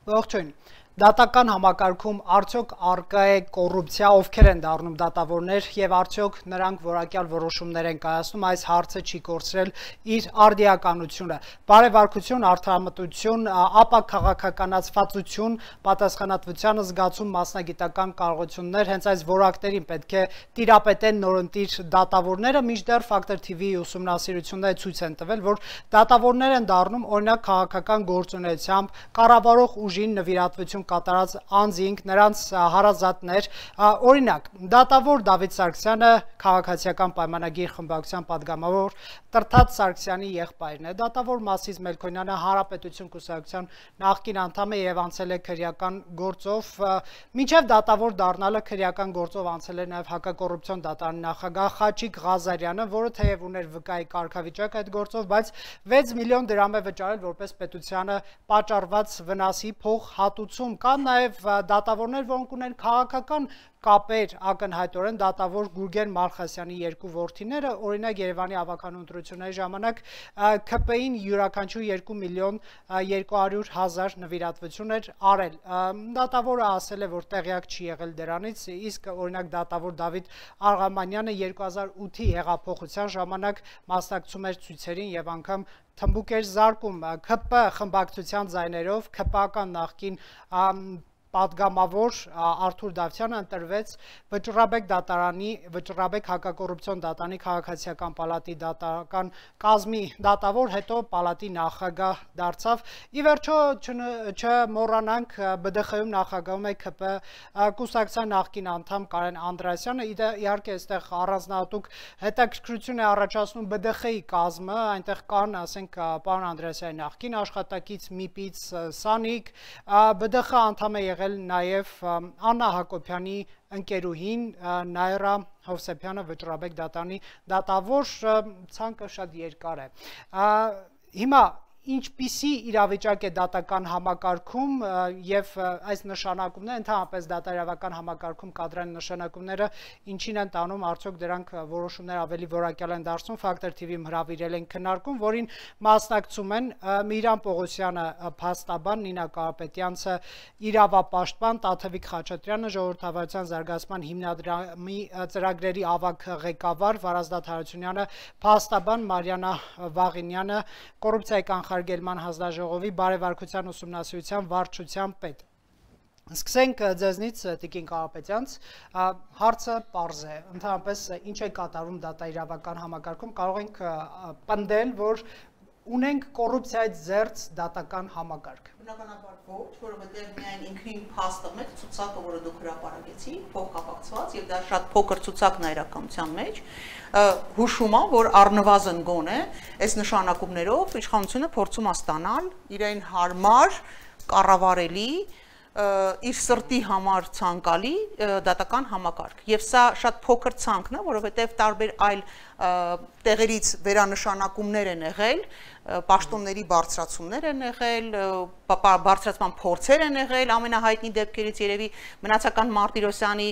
Ողջույն։ Դատական համակարգում արդյոք առկա է կոռուպցիա, ովքեր են դառնում դատավորներ եւ արդյոք նրանք որակյալ որոշումներ են կայացնում, այս հարցը չի կորցրել իր արդիականությունը։ Բարեվարկություն, արդարամտություն, ապա քաղաքականացվածություն, պատասխանատվության զգացում, մասնագիտական կարողություններ, հենց այս որակներին պետք է տիրապետեն նորընտիր դատավորները, մինչդեռ Factor TV-ի ուսումնասիրությունները ցույց են տվել, որ դատավորներ են դառնում օրինակ քաղաքական գործունեությամբ կառավարող ուժին նվիրատվություն կատարած անձինք, նրանց հարազատներ, օրինակ, դատավոր Դավիթ Սարգսյանը քաղաքացիական պայմանագիր խմբակցության падգամավոր Տրթած Սարգսյանի եղբայրն է, դատավոր Մասիս Մելքոնյանը Հանրապետություն կուսակցության նախկին անդամ է եւ անցել է քրեական գործով, մինչեւ դատավոր դառնալը քրեական գործով անցել է նաեւ հակակոռուպցիոն դատարանի նախագահ Խաչիկ Ղազարյանը, որը թեև ուներ վկայի կարգավիճակ այդ գործով, բայց 6 միլիոն դրամ է վճարել որպես պետությանը պատճառված վնասի փոխհատուցում։ Կան նաև դատավորներ, որոնք ունեն քաղաքական կապեր ակնհայտորեն դատավոր Գուրգեն Մալխասյանի երկու որդիները, օրինակ Երևանի ավականու ընտրությունների ժամանակ ՔՊ-ին յուրաքանչյուր 2 միլիոն 200 հազար նվիրատվություն էր արել։ Դատավորը ասել է, որ տեղյակ չի եղել դրանից, իսկ օրինակ դատավոր Դավիթ Արղամանյանը 2008-ի հեղափոխության ժամանակ մասնակցում էր ցույցերին եւ անգամ թմբուկ էր զարկում ՔՊ խմբակցության ձայներով ՔՊ-ական նախկին падգամավոր Արթուր Դավթյանը ընտրվեց Վճռաբեկ հակակոռուպցիոն դատարանի քաղաքացիական պալատի դատական կազմի դատավոր, հետո պալատի նախագահ դարձավ։ Ի վերջո չմոռանանք ԲԴԽ-ում նախագահում է ՔՊ կուսակցության նախկին անդամ Կարեն Անդրեասյանը, իհարկե այստեղ առանձնահատուկ հետաքրքրություն է առաջացնում ԲԴԽ-ի կազմը, այնտեղ կան, ասենք, պարոն Անդրեասյանի նախկին աշխատակից Միպից Սանիկ, ԲԴԽ անդամ է եղել նաև Աննա Հակոբյանի ընկերուհին Նայրա Հովսեփյանը Վճռաբեկ դատարանի դատավոր, ցանկը շատ երկար է։ Հիմա ինչպիսի իրավիճակ է դատական համակարգում եւ այս նշանակումները, ընդհանրապես դատարավական համակարգում կադրային նշանակումները ինչին են տանում, արդյոք դրանք որոշումներ ավելի որակյալ են դարձնում, Factor TV-ում հրավիրել են քննարկում, որին մասնակցում են Միրան Պողոսյանը փաստաբան, Նինա Կարապետյանցը իրավապաշտպան, Տաթևիկ Խաչատրյանը ժողովրդավարության զարգացման հիմնադրամի ծրագրերի ավագ ղեկավար, Վարազդատ Հարությունյանը փաստաբան, Մարիանա Վաղինյանը կոռուպցիայի կանխարգելման հանձնաժողովի բարեվարկության ուսումնասիրության վարչության պետ։ Սկսենք ձեզնից Տիկին Կարապետյանց, հարցը պարզ է, ընդհանրապես ինչ է կատարում դատաիրավական համակարգում, կարող ենք պնդել, որ ունենք կոռուպցիայից զերծ դատական համակարգ։ Բնականաբար ոչ, որովհետև միայն ինքնին փաստը մեկ ցուցակը, որը դուք հրապարակեցիք, փոխկապակցված եւ դա շատ փոքր ցուցակն է իրականության մեջ, հուշում է, որ առնվազն գոնե այս նշանակումներով իշխանությունը փորձում է ստանալ իրեն հարմար, կառավարելի, իր սրտի համար ցանկալի դատական համակարգ։ Եվ սա շատ փոքր ցանկն է, որովհետև տարբեր այլ տեղերից վերանշանակումներ են եղել, պաշտոնների բարձրացումներ են եղել, բարձրացման փորձեր են եղել, ամենահայտնի դեպքերից երևի Մնացական Մարտիրոսյանի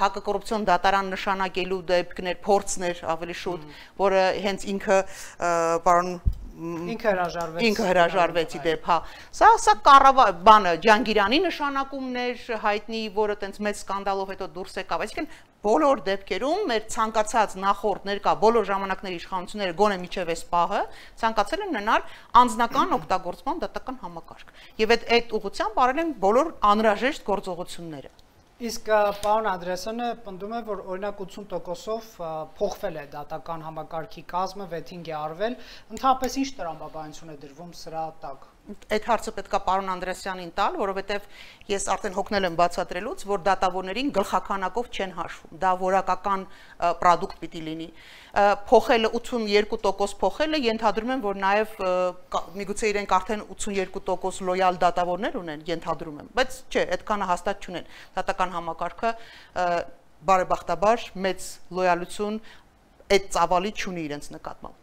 հակակոռուպցիոն դատարան նշանակելու դեպքներ, փորձներ ավելի շուտ, որը հենց ինքը պարոն ինքը հրաժարվեց իդեպ, հա։ Սա բանը Ջանգիրյանի նշանակումներ հայտնի, որը տենց մեծ սկանդալով հետո դուրս եկավ, այսինքն բոլոր դեպքերում մեր ցանկացած նախորդ ներկա բոլոր ժամանակների իշխանությունները գոնե միջև այս պահը ցանկացել են ունենալ անձնական օգտագործման դատական համակարգ։ Եվ այդ ուղղությամբ արել են բոլոր անհրաժեշտ գործողությունները։ Իսկ պարոն Անդրեասյանը պնդում է, որ օրինակ 80%-ով փոխվել է դատական համակարգի կազմը, վեթինգ է արվել, ընդհանրապես ինչ տրամաբանություն է դրվում սրա տակ։ Այդ հարցը պետք է պարոն Անդրեասյանին տալ, որովհետև ես արդեն հոգնել եմ բացատրելուց, որ դատավորներին գլխականակով չեն հաշվում, դա որակական պրոդուկտ պիտի լինի։ Փոխելը 82% փոխելը ենթադրում եմ, որ նաև միգուցե իրենք արդեն 82% լոյալ դատավորներ ունեն, ենթադրում եմ, բայց չէ, այդքանը հաստատ չունեն։ Դատական համակարգը բարեբախտաբար մեծ լոյալություն այդ ծավալի չունի իրենց նկատմամբ։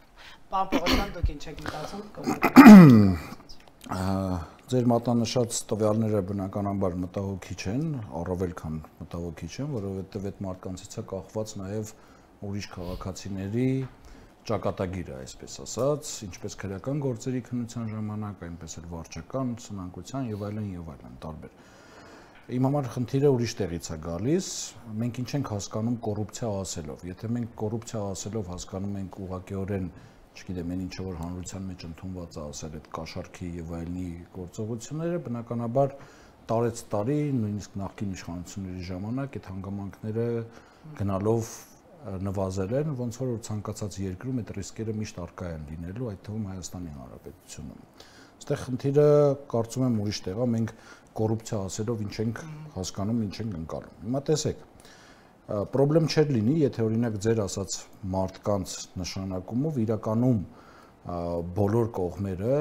Պարոն Պողոսյան, դուք ինչ եք մտածում։ Ձեր մատնանշած տվյալները բնականաբար մտահոգիչ են, առավել քան մտահոգիչ են, որովհետև այդ մարդկանցից է կախված նաև ուրիշ քաղաքացիների ճակատագիրը, այսպես ասած, ինչպես քրեական գործերի քննության ժամանակ, այնպես էլ վարչական, սնանկության եւ այլն տարբեր։ Իմ համար խնդիրը ուրիշ տեղից է գալիս, մենք ինչ ենք հասկանում կոռուպցիա ասելով։ Եթե մենք կոռուպցիա ասելով հասկանում ենք ուղղակիորեն, չգիտեմ, այն ինչը որ հանրության մեջ ընդունված է ասել այդ կաշառքի եւ այլնի գործողությունները, բնականաբար տարեց տարի, նույնիսկ նախկին իշխանությունների ժամանակ այդ հանգամանքները գնալով նվազել են, ոնց որ ցանկացած երկրում այդ ռիսկերը միշտ առկա են լինելու, այդ թվում Հայաստանի Հանրապետությունում։ Այստեղ խնդիրը կարծում եմ ուրիշ տեղ է, մենք կոռուպցիա ասելով ինչ ենք հասկանում, ինչ ենք ընկալում։ Հիմա տեսեք, պրոբլեմ չէր լինի, եթե օրինակ ձեր ասած մարդկանց նշանակումով իրականում բոլոր կողմերը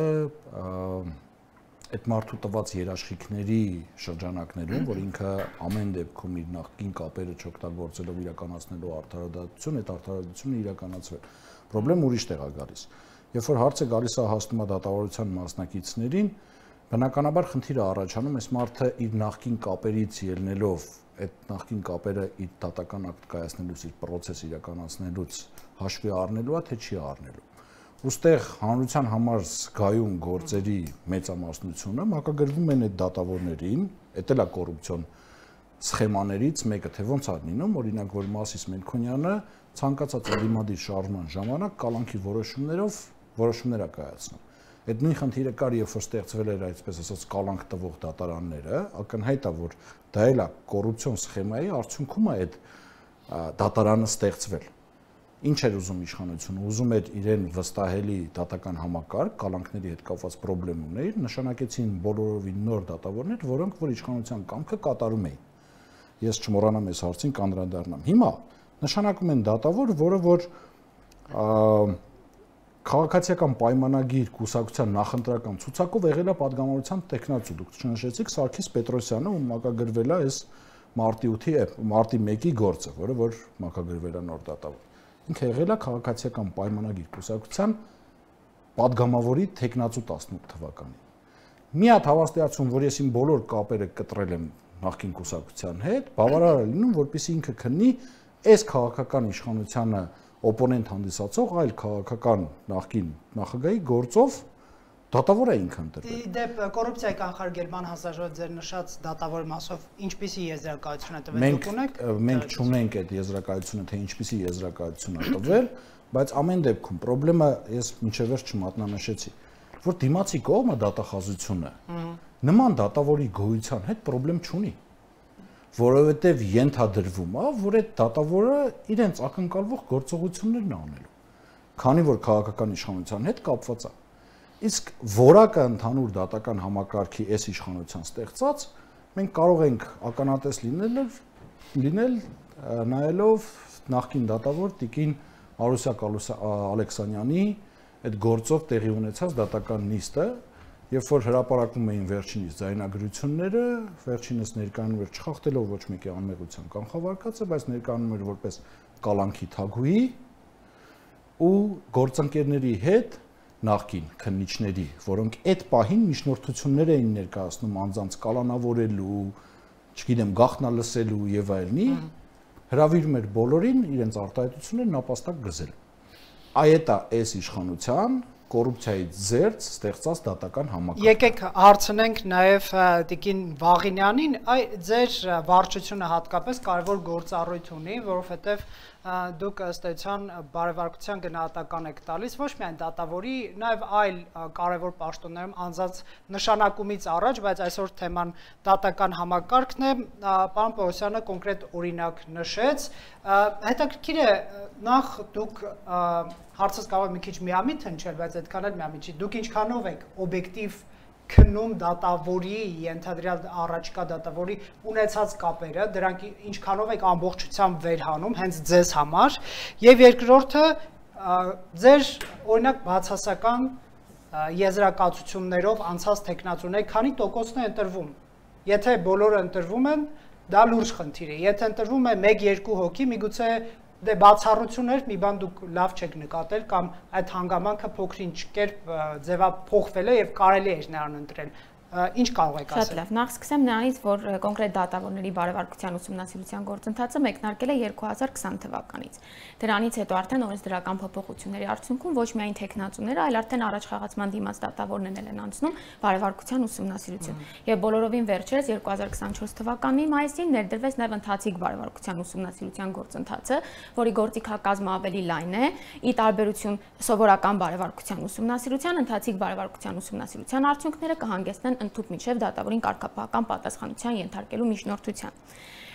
այդ մարդու տված երաշխիքների շրջանակներում, որ ինքը ամեն դեպքում իր նախկին կապերը չօգտագործելով իրականացնելու արդարադատություն, այդ արդարադատությունը իրականացվել։ Պրոբլեմ ուրիշ տեղ է գալիս։ Երբ որ հարցը գալիս է հասնում է դատավարության մասնակիցներին, բնականաբար խնդիրը առաջանում, այս մարդը իր նախկին կապերից ելնելով, այդ նախկին կապերը իր դատական ակտ կայացնելուց, իր պրոցես իրականացնելուց հաշվի առնելու է, թե չի առնելու։ Ոստեղ հանրության համար զգայուն գործերի մեծամասնությունը մակագրվում են այդ դատավորներին, դա էլ է կոռուպցիոն սխեմաներից մեկը, թե ոնց է լինում, օրինակ որ Մասիս Մելքոնյանը ցանկացած ընդդիմադիր շարժման ժամանակ կալանքի որոշումներով որոշումներ է կայացնում։ Այդ նույն խնդիրը կար, երբ որ ստեղծվել էր այսպես ասած կալանք տվող դատարանները, ակնհայտ է, որ դա էլ է կոռուպցիոն սխեմայի արդյունքում է այդ դատարանը ստեղծվել։ Ինչ էր ուզում իշխանությունը, ուզում էր իրեն վստահելի դատական համակարգ, կալանքների հետ կապված խնդրեմ ուներ, նշանակեցին բոլորովին նոր դատավորներ, որոնք որ իշխանության կամքը կատարում էին։ Ես չմոռանամ այս հարցին կանդրադառնամ։ Հիմա նշանակում են դատավոր, որը որ քաղաքացիական պայմանագիր կուսակցության նախընտրական ցուցակով եղել է падգամավորության տեխնացու։ Դուք չնշեցիք Սարգիս Պետրոսյանը, ում մակագրվել է այս մարտի 1-ի գործը, որը որ մակագրվել է նոր դատավոր։ Ինքը եղել է քաղաքացիական պայմանագիր կուսակցության падգամավորի տեխնացու 18 թվականին։ Մի հատ հավաստիացում, որ ես իմ բոլոր կապերը կտրել եմ նախկին կուսակցության հետ, բավարար է լինում, որպեսզի ինքը քննի այս քաղաքական իշխանությանը օպոնենտ հանդիսացող այլ քաղաքական նախկին նախագահի գործով դատավոր է ինքը ընտրվել։ Դեպ կոռուպցիայի կանխարգելման հանձնաժողովի ձեր նշած դատավոր մասով ինչպիսի եզրակացություն է տվել դուք ունեք։ Մենք չունենք այդ եզրակացությունը, թե ինչպիսի եզրակացություն է տվել, բայց ամեն դեպքում խնդրեմը ես մինչև վերջ չմատնանշեցի, որ դիմացի կողմը դատախազությունը նման դատավորի գոյության հետ խնդրեմ չունի, որովհետև ենթադրվում է, որ այդ դատավորը իրենց ակնկալվող գործողություններն անելու, քանի որ քաղաքական իշխանության հետ կապված է։ Իսկ որակը ընդհանուր դատական համակարգի այս իշխանության ստեղծած, մենք կարող ենք ականատես լինել նայելով նախկին դատավոր Տիկին Արուսյակ Ալեքսանյանի այդ գործով տեղի ունեցած դատական նիստը, երբ որ հրապարակում էին վերջինիս ձայնագրությունները, վերջինս ներկայանում էր չխախտելով ոչ մեկի անմեղության կանխավարկածը, բայց ներկայանում էր որպես կալանքի թագուհի ու գործընկերների հետ նախկին քննիչների, որոնք այդ պահին միջնորդություններ էին ներկայացնում անձանց կալանավորելու, չգիտեմ, գաղտնալսելու եւ այլնի, հրավիրում էր բոլորին իրենց արտահայտությունները նապաստակ գզել։ Այդ է այս իշխանության կոռուպցիայից զերծ ստեղծած դատական համակարգ։ Եկեք հարցնենք նաև Տիկին Վաղինյանին, ձեր վարչությունը հատկապես կարևոր գործառույթ ունի, որովհետև դուք ըստ էության բարեվարկության գնահատական եք տալիս ոչ միայն դատավորի, նաև այլ կարևոր պաշտոններում անձած նշանակումից առաջ, բայց այսօր թեման դատական համակարգն է, պարոն Պողոսյանը կոնկրետ օրինակ նշեց, հետաքրքիր է նախ դուք հարցս կարող է մի քիչ միամիտ հնչել, բայց այդքան էլ միամիտ չի, դուք ինչքանով եք օբյեկտիվ քննում դատավորի, ենթադրյալ առաջկա դատավորի ունեցած կապերը, դրանք ինչքանով եք ամբողջությամբ վերհանում հենց ձեզ համար, եւ երկրորդը ձեր օրինակ բացասական եզրակացություններով անցած տեխնացուներ, քանի տոկոսն է ընտրվում։ Եթե բոլորը ընտրվում են, դա լուրջ խնդիր է։ Եթե ընտրվում է 1-2 հոգի, միգուցե դե բացառություններ, մի բան դուք լավ չեք նկատել կամ այդ հանգամանքը փոքր-ինչ կերպ ձևափոխվել է եւ կարելի է նրան ընտրել։ ինչ կարող եք ասել։ Շատ լավ, նախ սկսեմ նրանից, որ կոնկրետ դատավորների բարևարկության ուսումնասիրության գործընթացը մեկնարկել է 2020 թվականից։ Դրանից հետո արդեն օրենսդրական փոփոխությունների արդյունքում ոչ միայն տեխնացուները, այլ արդեն առաջ խաղացման դիմաց դատավորներն են անցնում բարևարկության ուսումնասիրություն։ Եվ բոլորովին վերջերս 2024 թվականի մայիսին ներդրվեց նաև ընթացիկ բարևարկության ուսումնասիրության գործընթացը, որի գործիքակազմը ավելի լայն է, ի տարբերություն սովորական բարևարկության ուսումնասիրության, ընթացիկ բարևարկության ուսումնասիրության արդյունքները կհանգեցնեն ընդհանուր միջև դատավորին կարգապահական պատասխանության ենթարկելու միջնորդության։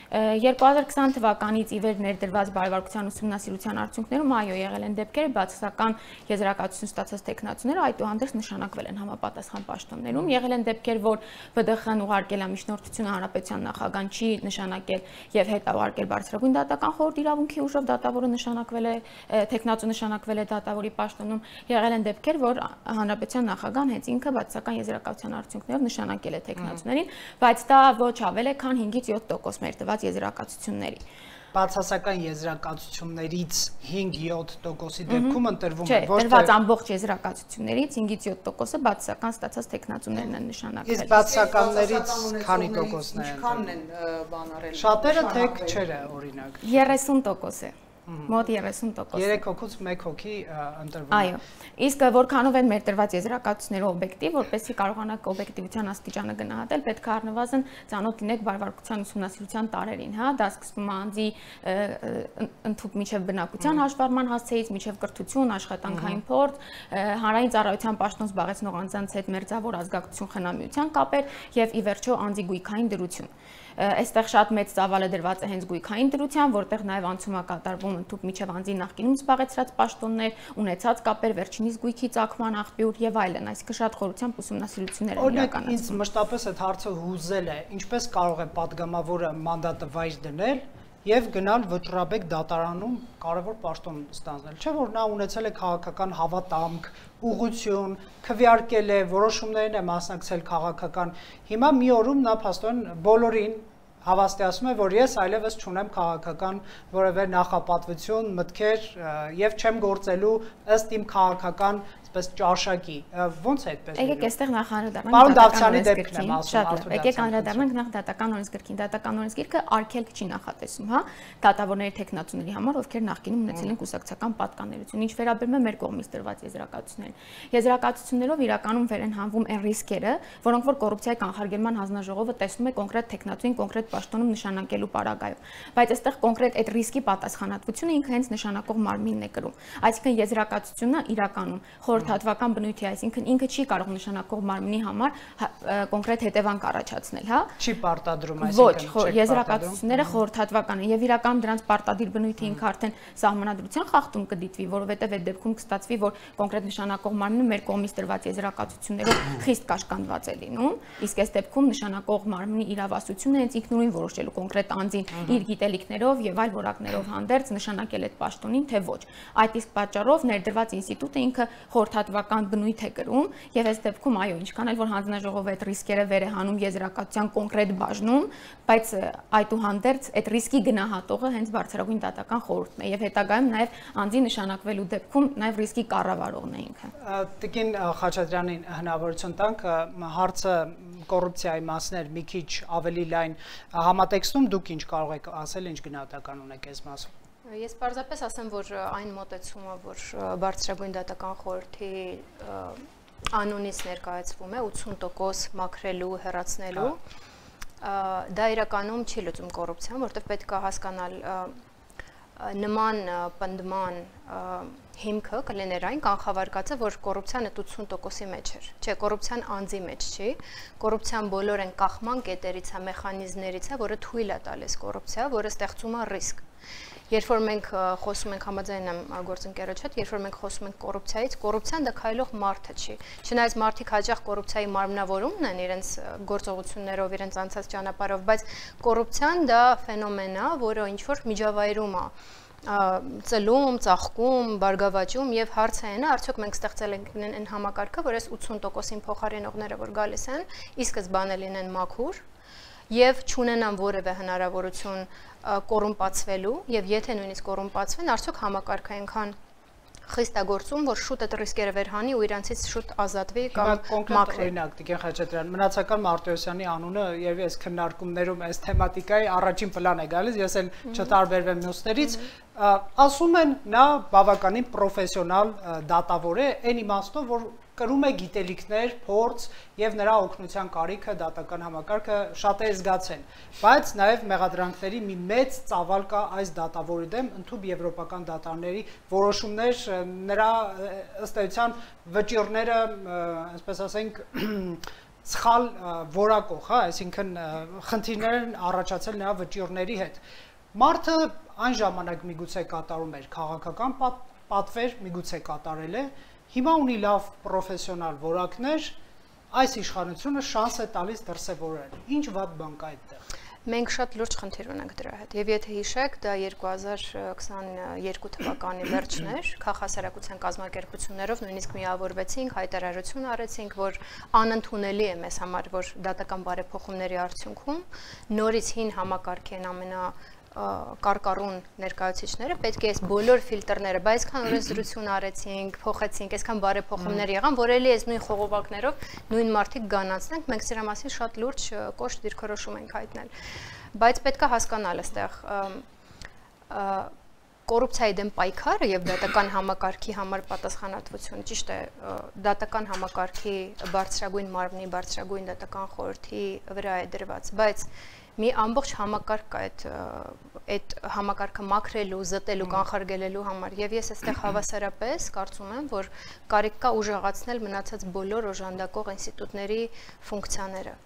2020 թվականից ի վեր ներդրված բարևարկության ուսումնասիրության արդյունքներում այո եղել են դեպքեր, բացասական եզրակացություն ստացած տեխնացուները այդուհանդերձ նշանակվել են համապատասխան պաշտոններում, եղել են դեպքեր, որ ԲԴԽ-ն ուղարկել է միջնորդությունը հանրապետության նախագահան չի նշանակել եւ հետ ուղարկել բարձրագույն դատական խորհուրդ իրավունքի ուժով դատավորը նշանակվել է, տեխնացու նշանակվել է դատավորի պաշտոնում, եղել են դեպքեր, որ հանրապետության նախագահան հենց ինքը բացասական եզրակացության արդյունքներով նշանակել է տեխնացուներին, բայց դա ոչ ավել է, քան 5-ից 7% մեր տված եզրակացությունների։ Բացասական եզրակացություններից 5-7%-ի դեպքում ընտրվում է ոչ թե տրված ամբողջ եզրակացություններից 5-ից 7%-ը բացասական ստացած տեխնացուներն են նշանակվել։ Իսկ բացասականներից քանի տոկոսն է։ Ինչքանն են բան արել։ Շատերը թե չէ, օրինակ։ 30% է։ Մոտ 30%։ 3 հոգուց 1 հոգի ընտրվում է։ Այո։ Իսկ որքանով են մեր տրված եզրակացությունները օբյեկտիվ, որպեսզի կարողանաք օբյեկտիվության աստիճանը գնահատել, պետք է առնվազն ծանոթ լինեք բարևարկության ուսումնասիրության տարերին, հա, դա սկսվում է անձի ընդհանուր միջև բնակության հաշվառման հասցեից, միջև կրթություն, աշխատանքային փորձ, հանրային ծառայության պաշտոն զբաղեցնող անձանց հետ մերձավոր ազգակցություն խնամիության կապեր եւ ի վերջո անձի գույքային դրություն։ Այստեղ շատ մեծ ծավալ է դրված է հենց գույքային դրության, որտեղ նաև անցում է կատարվում ընդհանուր միջև անձի նախկինում զբաղեցրած պաշտոններ, ունեցած կապեր, վերջինիս գույքի ծագման աղբյուր եւ այլն, այսինքն շատ խորությամբ ուսումնասիրություններ են իրականացվում։ Ինձ մշտապես այդ հարցը հուզել է, ինչպես կարող է падգամավորը մանդատը վայր դնել եւ գնալ վճռաբեկ դատարանում կարևոր պաշտոն ստանձնել։ Չէ՞ որ նա ունեցել է քաղաքական հավատամք, ուղղություն, քվեարկել է, որոշումներին է մասնակցել քաղաքական։ Հիմա մի օրում նա փաստորեն բոլորին հավաստիացնում է, որ ես այլևս չունեմ քաղաքական որևէ նախապատվություն, մտքեր եւ չեմ գործելու ըստ իմ քաղաքական այսպես ճաշակի։ Ոնց է այդպես։ Եկեք այստեղ նախ անդրադառնանք Պարոն Դավթյանի դեպքն եմ ասում, շատ լավ։ Եկեք անդրադառնանք նախ դատական օրենսգրքին։ Դատական օրենսգիրքը արգելք չի նախատեսում, հա, դատավորների տեխնացուների համար, ովքեր նախկինում ունեցել են կուսակցական պատկանելություն, ինչ վերաբերում է մեր կողմից տրված եզրակացություններին։ Եզրակացություններով իրականում վեր են հանվում այն ռիսկերը, որոնք որ կոռուպցիայի կանխարգելման հանձնաժողովը տեսնում է կոնկրետ տեխնացուին կոնկրետ պաշտոնում նշանակելու պարագայում։ Բայց այստեղ կոնկրետ այդ ռիսկի պատասխանատվությունը ինքը հենց նշանակող մարմինն է կրում։ Այսինքն եզրակացությունը իրականում խորհրդատվական բնույթի, այսինքն ինքը չի կարող նշանակող մարմնի համար կոնկրետ հետևանք առաջացնել, հա։ Չի պարտադրում, այսինքն ոչ, եզրակացությունները խորհրդատվական են եւ իրականում դրանց պարտադիր բնույթը ինքը արդեն սահմանադրության խախտում կդիտվի, որովհետեւ այդ դեպքում կստացվի, որ կոնկրետ նշանակող մարմինը մեր կողմից տրված եզրակացություններով խիստ կաշկանդված է լինում, իսկ այս դեպքում նշանակող մարմնի իրավասությունը հենց ինքնուրույն որոշելու կոնկրետ անձին իր գիտելիքներով եւ այլ որակներով հանդերձ նշանակել այդ պաշտոնին, թե ոչ։ Այդ իսկ պատճառով ներդրված ինստիտուտը ինքը խորհրդատվական բնույթ է կրում եւ այս դեպքում այո, ինչքան էլ որ հանձնաժողովը այդ ռիսկերը վեր է հանում եզրակացության կոնկրետ բաժնում, բայց այդուհանդերձ այդ ռիսկի գնահատողը հենց բարձրագույն դատական խորհուրդն է եւ հետագայում նաեւ անձի նշանակվելու դեպքում նաեւ ռիսկի կառավարողն է ինքը։ Տիկին Խաչատրյանին հնարավորություն տանք հարցը կոռուպցիայի մասներ մի քիչ ավելի լայն համատեքստում դուք ինչ կարող եք ասել, ինչ գնահատական ունեք այս մասում։ Ես պարզապես ասեմ, որ այն մոտեցումը, որ բարձրագույն դատական խորհրդի անունից ներկայացվում է 80% մաքրելու, հեռացնելու, դա իրականում չի լուծում կոռուպցիան, որտեղ պետք է հասկանալ նման պնդման հիմքը կլիներ այն կանխավարկածը, որ կոռուպցիան այդ 80%-ի մեջ էր։ Չէ, կոռուպցիան անձի մեջ չի, կոռուպցիան բոլոր այն կախման կետերից է, մեխանիզմներից է, որը թույլ է տալիս կոռուպցիա, որը ստեղծում է ռիսկ։ Երբ որ մենք խոսում ենք համաձայն եմ գործընկերոջ հետ, երբ որ մենք խոսում ենք կոռուպցիայից, կոռուպցիան դա քայլող մարդը չի։ Չնայած մարդիկ հաճախ կոռուպցիայի մարմնավորումն են իրենց գործողություններով, իրենց անցած ճանապարհով, բայց կոռուպցիան դա ֆենոմեն է, որը ինչ որ միջավայրում է ծլում, ծաղկում, բարգավաճում եւ հարցը այն է, արդյոք մենք ստեղծել ենք այն համակարգը, որ այս 80%-ին փոխարինողները որ գալիս են, ի սկզբանե լինեն մաքուր եւ չունենան որևէ հնարավորություն կոռումպացվելու եւ եթե նույնիսկ կոռումպացվեն, արդյոք համակարգը այնքան խիստագործում, որ շուտ այդ ռիսկերը վերհանի ու իրանցից շուտ ազատվի կամ կոնկրետ օրինակ Տիկին Խաչատրյան, մնացական Մարտիրոսյանի անունը երևի այս քննարկումներում այս թեմատիկայի առաջին պլան է գալիս, ես էլ չտարբերվեմ մյուսներից, ասում են նա բավականին պրոֆեսիոնալ դատավոր է, այն իմաստով, որ կրում է գիտելիքներ, փորձ եւ նրա օգնության կարիքը դատական համակարգը շատ է զգացել, բայց նաեւ մեղադրանքների մի մեծ ծավալ կա այս դատավորի դեմ, ընդհանուր եվրոպական դատարանների որոշումներ, նրա ըստ էության վճիռները, այսպես ասենք, սխալ որակող, հա, այսինքն խնդիրներ են առաջացել նրա վճիռների հետ։ Մարդը այն ժամանակ միգուցե կատարում էր քաղաքական պատվեր, միգուցե կատարել է, հիմա ունի լավ պրոֆեսիոնալ որակներ, այս իշխանությունը շանս է տալիս դրսևորել։ Ինչ վատ բան կա այդտեղ։ Մենք շատ լուրջ խնդիր ունենք դրա հետ։ Եվ եթե հիշեք, դա 2022 թվականի վերջն էր, քաղաքասարակության կազմակերպություններով նույնիսկ միավորվեցինք, հայտարարություն արեցինք, որ անընդունելի է մեզ համար, որ դատական բարեփոխումների արդյունքում նորից հին համակարգի են կարկառուն ներկայացուցիչները պետք է այս բոլոր ֆիլտրները, բայց այսքան օրենսդրություն արեցինք, փոխեցինք, այսքան բարեփոխումներ եղան, որ էլի այս նույն խողովակներով նույն մարդիկ գանացնենք, մենք սրա մասին շատ լուրջ կոշտ դիրքորոշում ենք հայտնել։ Բայց պետք է հասկանալ այստեղ կոռուպցիայի դեմ պայքարը եւ դատական համակարգի համար պատասխանատվություն, ճիշտ է, դատական համակարգի բարձրագույն մարմնի, բարձրագույն դատական խորհրդի վրա է դրված, բայց մի ամբողջ համակարգ կա այդ համակարգը մաքրելու, զտելու, կանխարգելելու համար եւ ես այստեղ հավասարապես կարծում եմ, որ կարիք կա ուժեղացնել մնացած բոլոր օժանդակող ինստիտուտների ֆունկցիաները։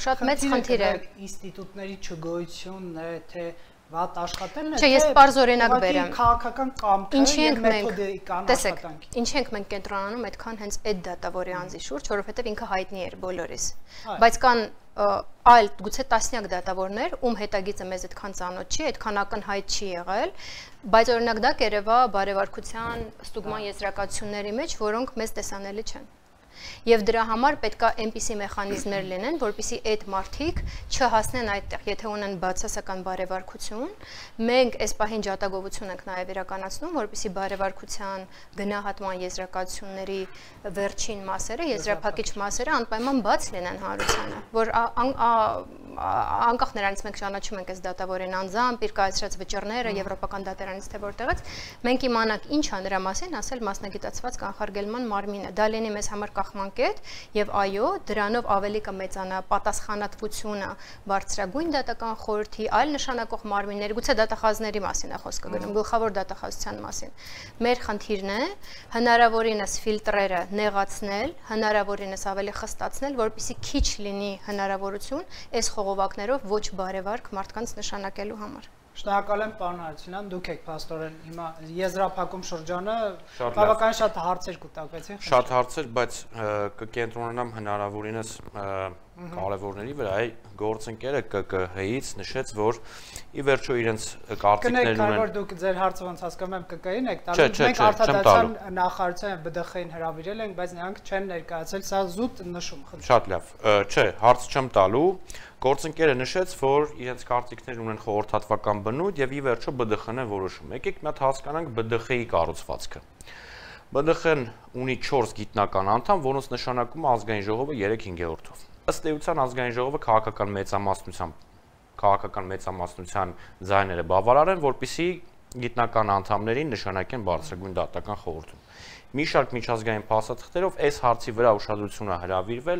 Շատ մեծ խնդիր է ինստիտուտների չգոյությունն է, թե վատ աշխատելն է, չէ, ես պարզ օրինակ բերեմ։ Քաղաքական կամքը եւ մեթոդիկան աշխատանքի։ Ինչ ենք մենք կենտրոնանում այդքան հենց այդ դատավորի անձի շուրջ, որովհետեւ ինքը հայտնի էր բոլորիս։ Բայց կան այլ գուցե տասնյակ դատավորներ, ում հետագիծը մեզ այդքան ծանոթ չի, այդքան ակնհայտ չի եղել, բայց օրինակ դա կերևա բարևարկության ստուգման եզրակացությունների մեջ, որոնք մեզ տեսանելի չեն։ Եվ դրա համար պետք է այնպիսի մեխանիզմներ լինեն, որպեսզի այդ մարդիկ չհասնեն այդտեղ, եթե ունեն բացասական բարևարկություն, մենք այս պահին ջատագովություն ենք նաև իրականացնում, որպեսզի բարևարկության գնահատման եզրակացությունների վերջին մասերը, եզրափակիչ մասերը անպայման բաց լինեն հանրությանը, որ անկախ նրանից մենք ճանաչում ենք այս դատավորին անձամբ, իր կայացրած վճիռները եվրոպական դատարանից թե որտեղից, մենք իմանանք ինչ է նրա մասին ասել մասնագիտացված կանխարգելման մարմինը։ Դա լինի մեզ համար կախմանկետ եւ այո, դրանով ավելի կմեծանա պատասխանատվությունը բարձրագույն դատական խորհրդի, այլ նշանակող մարմինների, գուցե դատախազների մասին է խոսքը գնում, գլխավոր դատախազության մասին։ Մեր խնդիրն է հնարավորինս ֆիլտրերը նեղացնել, հնարավորինս ավելի խստացնել, որպեսզի քիչ լինի հնարավորություն այս խողովակներով ոչ բարևարք մարդկանց նշանակելու համար։ Շնորհակալ եմ պարոն Հարությունյան, դուք եք փաստորեն հիմա եզրափակում շրջանը բավականին շատ հարցեր կուտակվեցին։ Շատ հարցեր, բայց կկենտրոնանամ հնարավորինս կարևորների վրա, գործընկերը ԿԿՀ-ից նշեց, որ ի վերջո իրենց կարծիքներն ունեն։ Կներեք, որ դուք ձեր հարցը ոնց հասկանում եմ ԿԿՀ-ին եք տալու, մենք արտադրության նախարարության ԲԴԽ-ին հրավիրել ենք, բայց նրանք չեն ներկայացել, սա զուտ նշում։ Շատ լավ, չէ, հարց չեմ տալու։ Գործընկերը նշեց, որ իրենց կարծիքներ ունեն խորհրդատվական բնույթ եւ ի վերջո ԲԴԽ-ն է որոշում։ Եկեք մի հատ հասկանանք ԲԴԽ-ի կառուցվածքը։ ԲԴԽ-ն ունի 4 գիտնական անդամ, որոնց նշանակում ազգային ժողովը 3/5-ով։ Ըստ էության ազգային ժողովը քաղաքական մեծամասնության ձայները բավարար են, որպեսզի գիտնական անդամներին նշանակեն բարձրագույն դատական խորհրդում։ Մի շարք միջազգային փաստաթղթերով այս հարցի վրա ուշադրություն է հրավիրվել,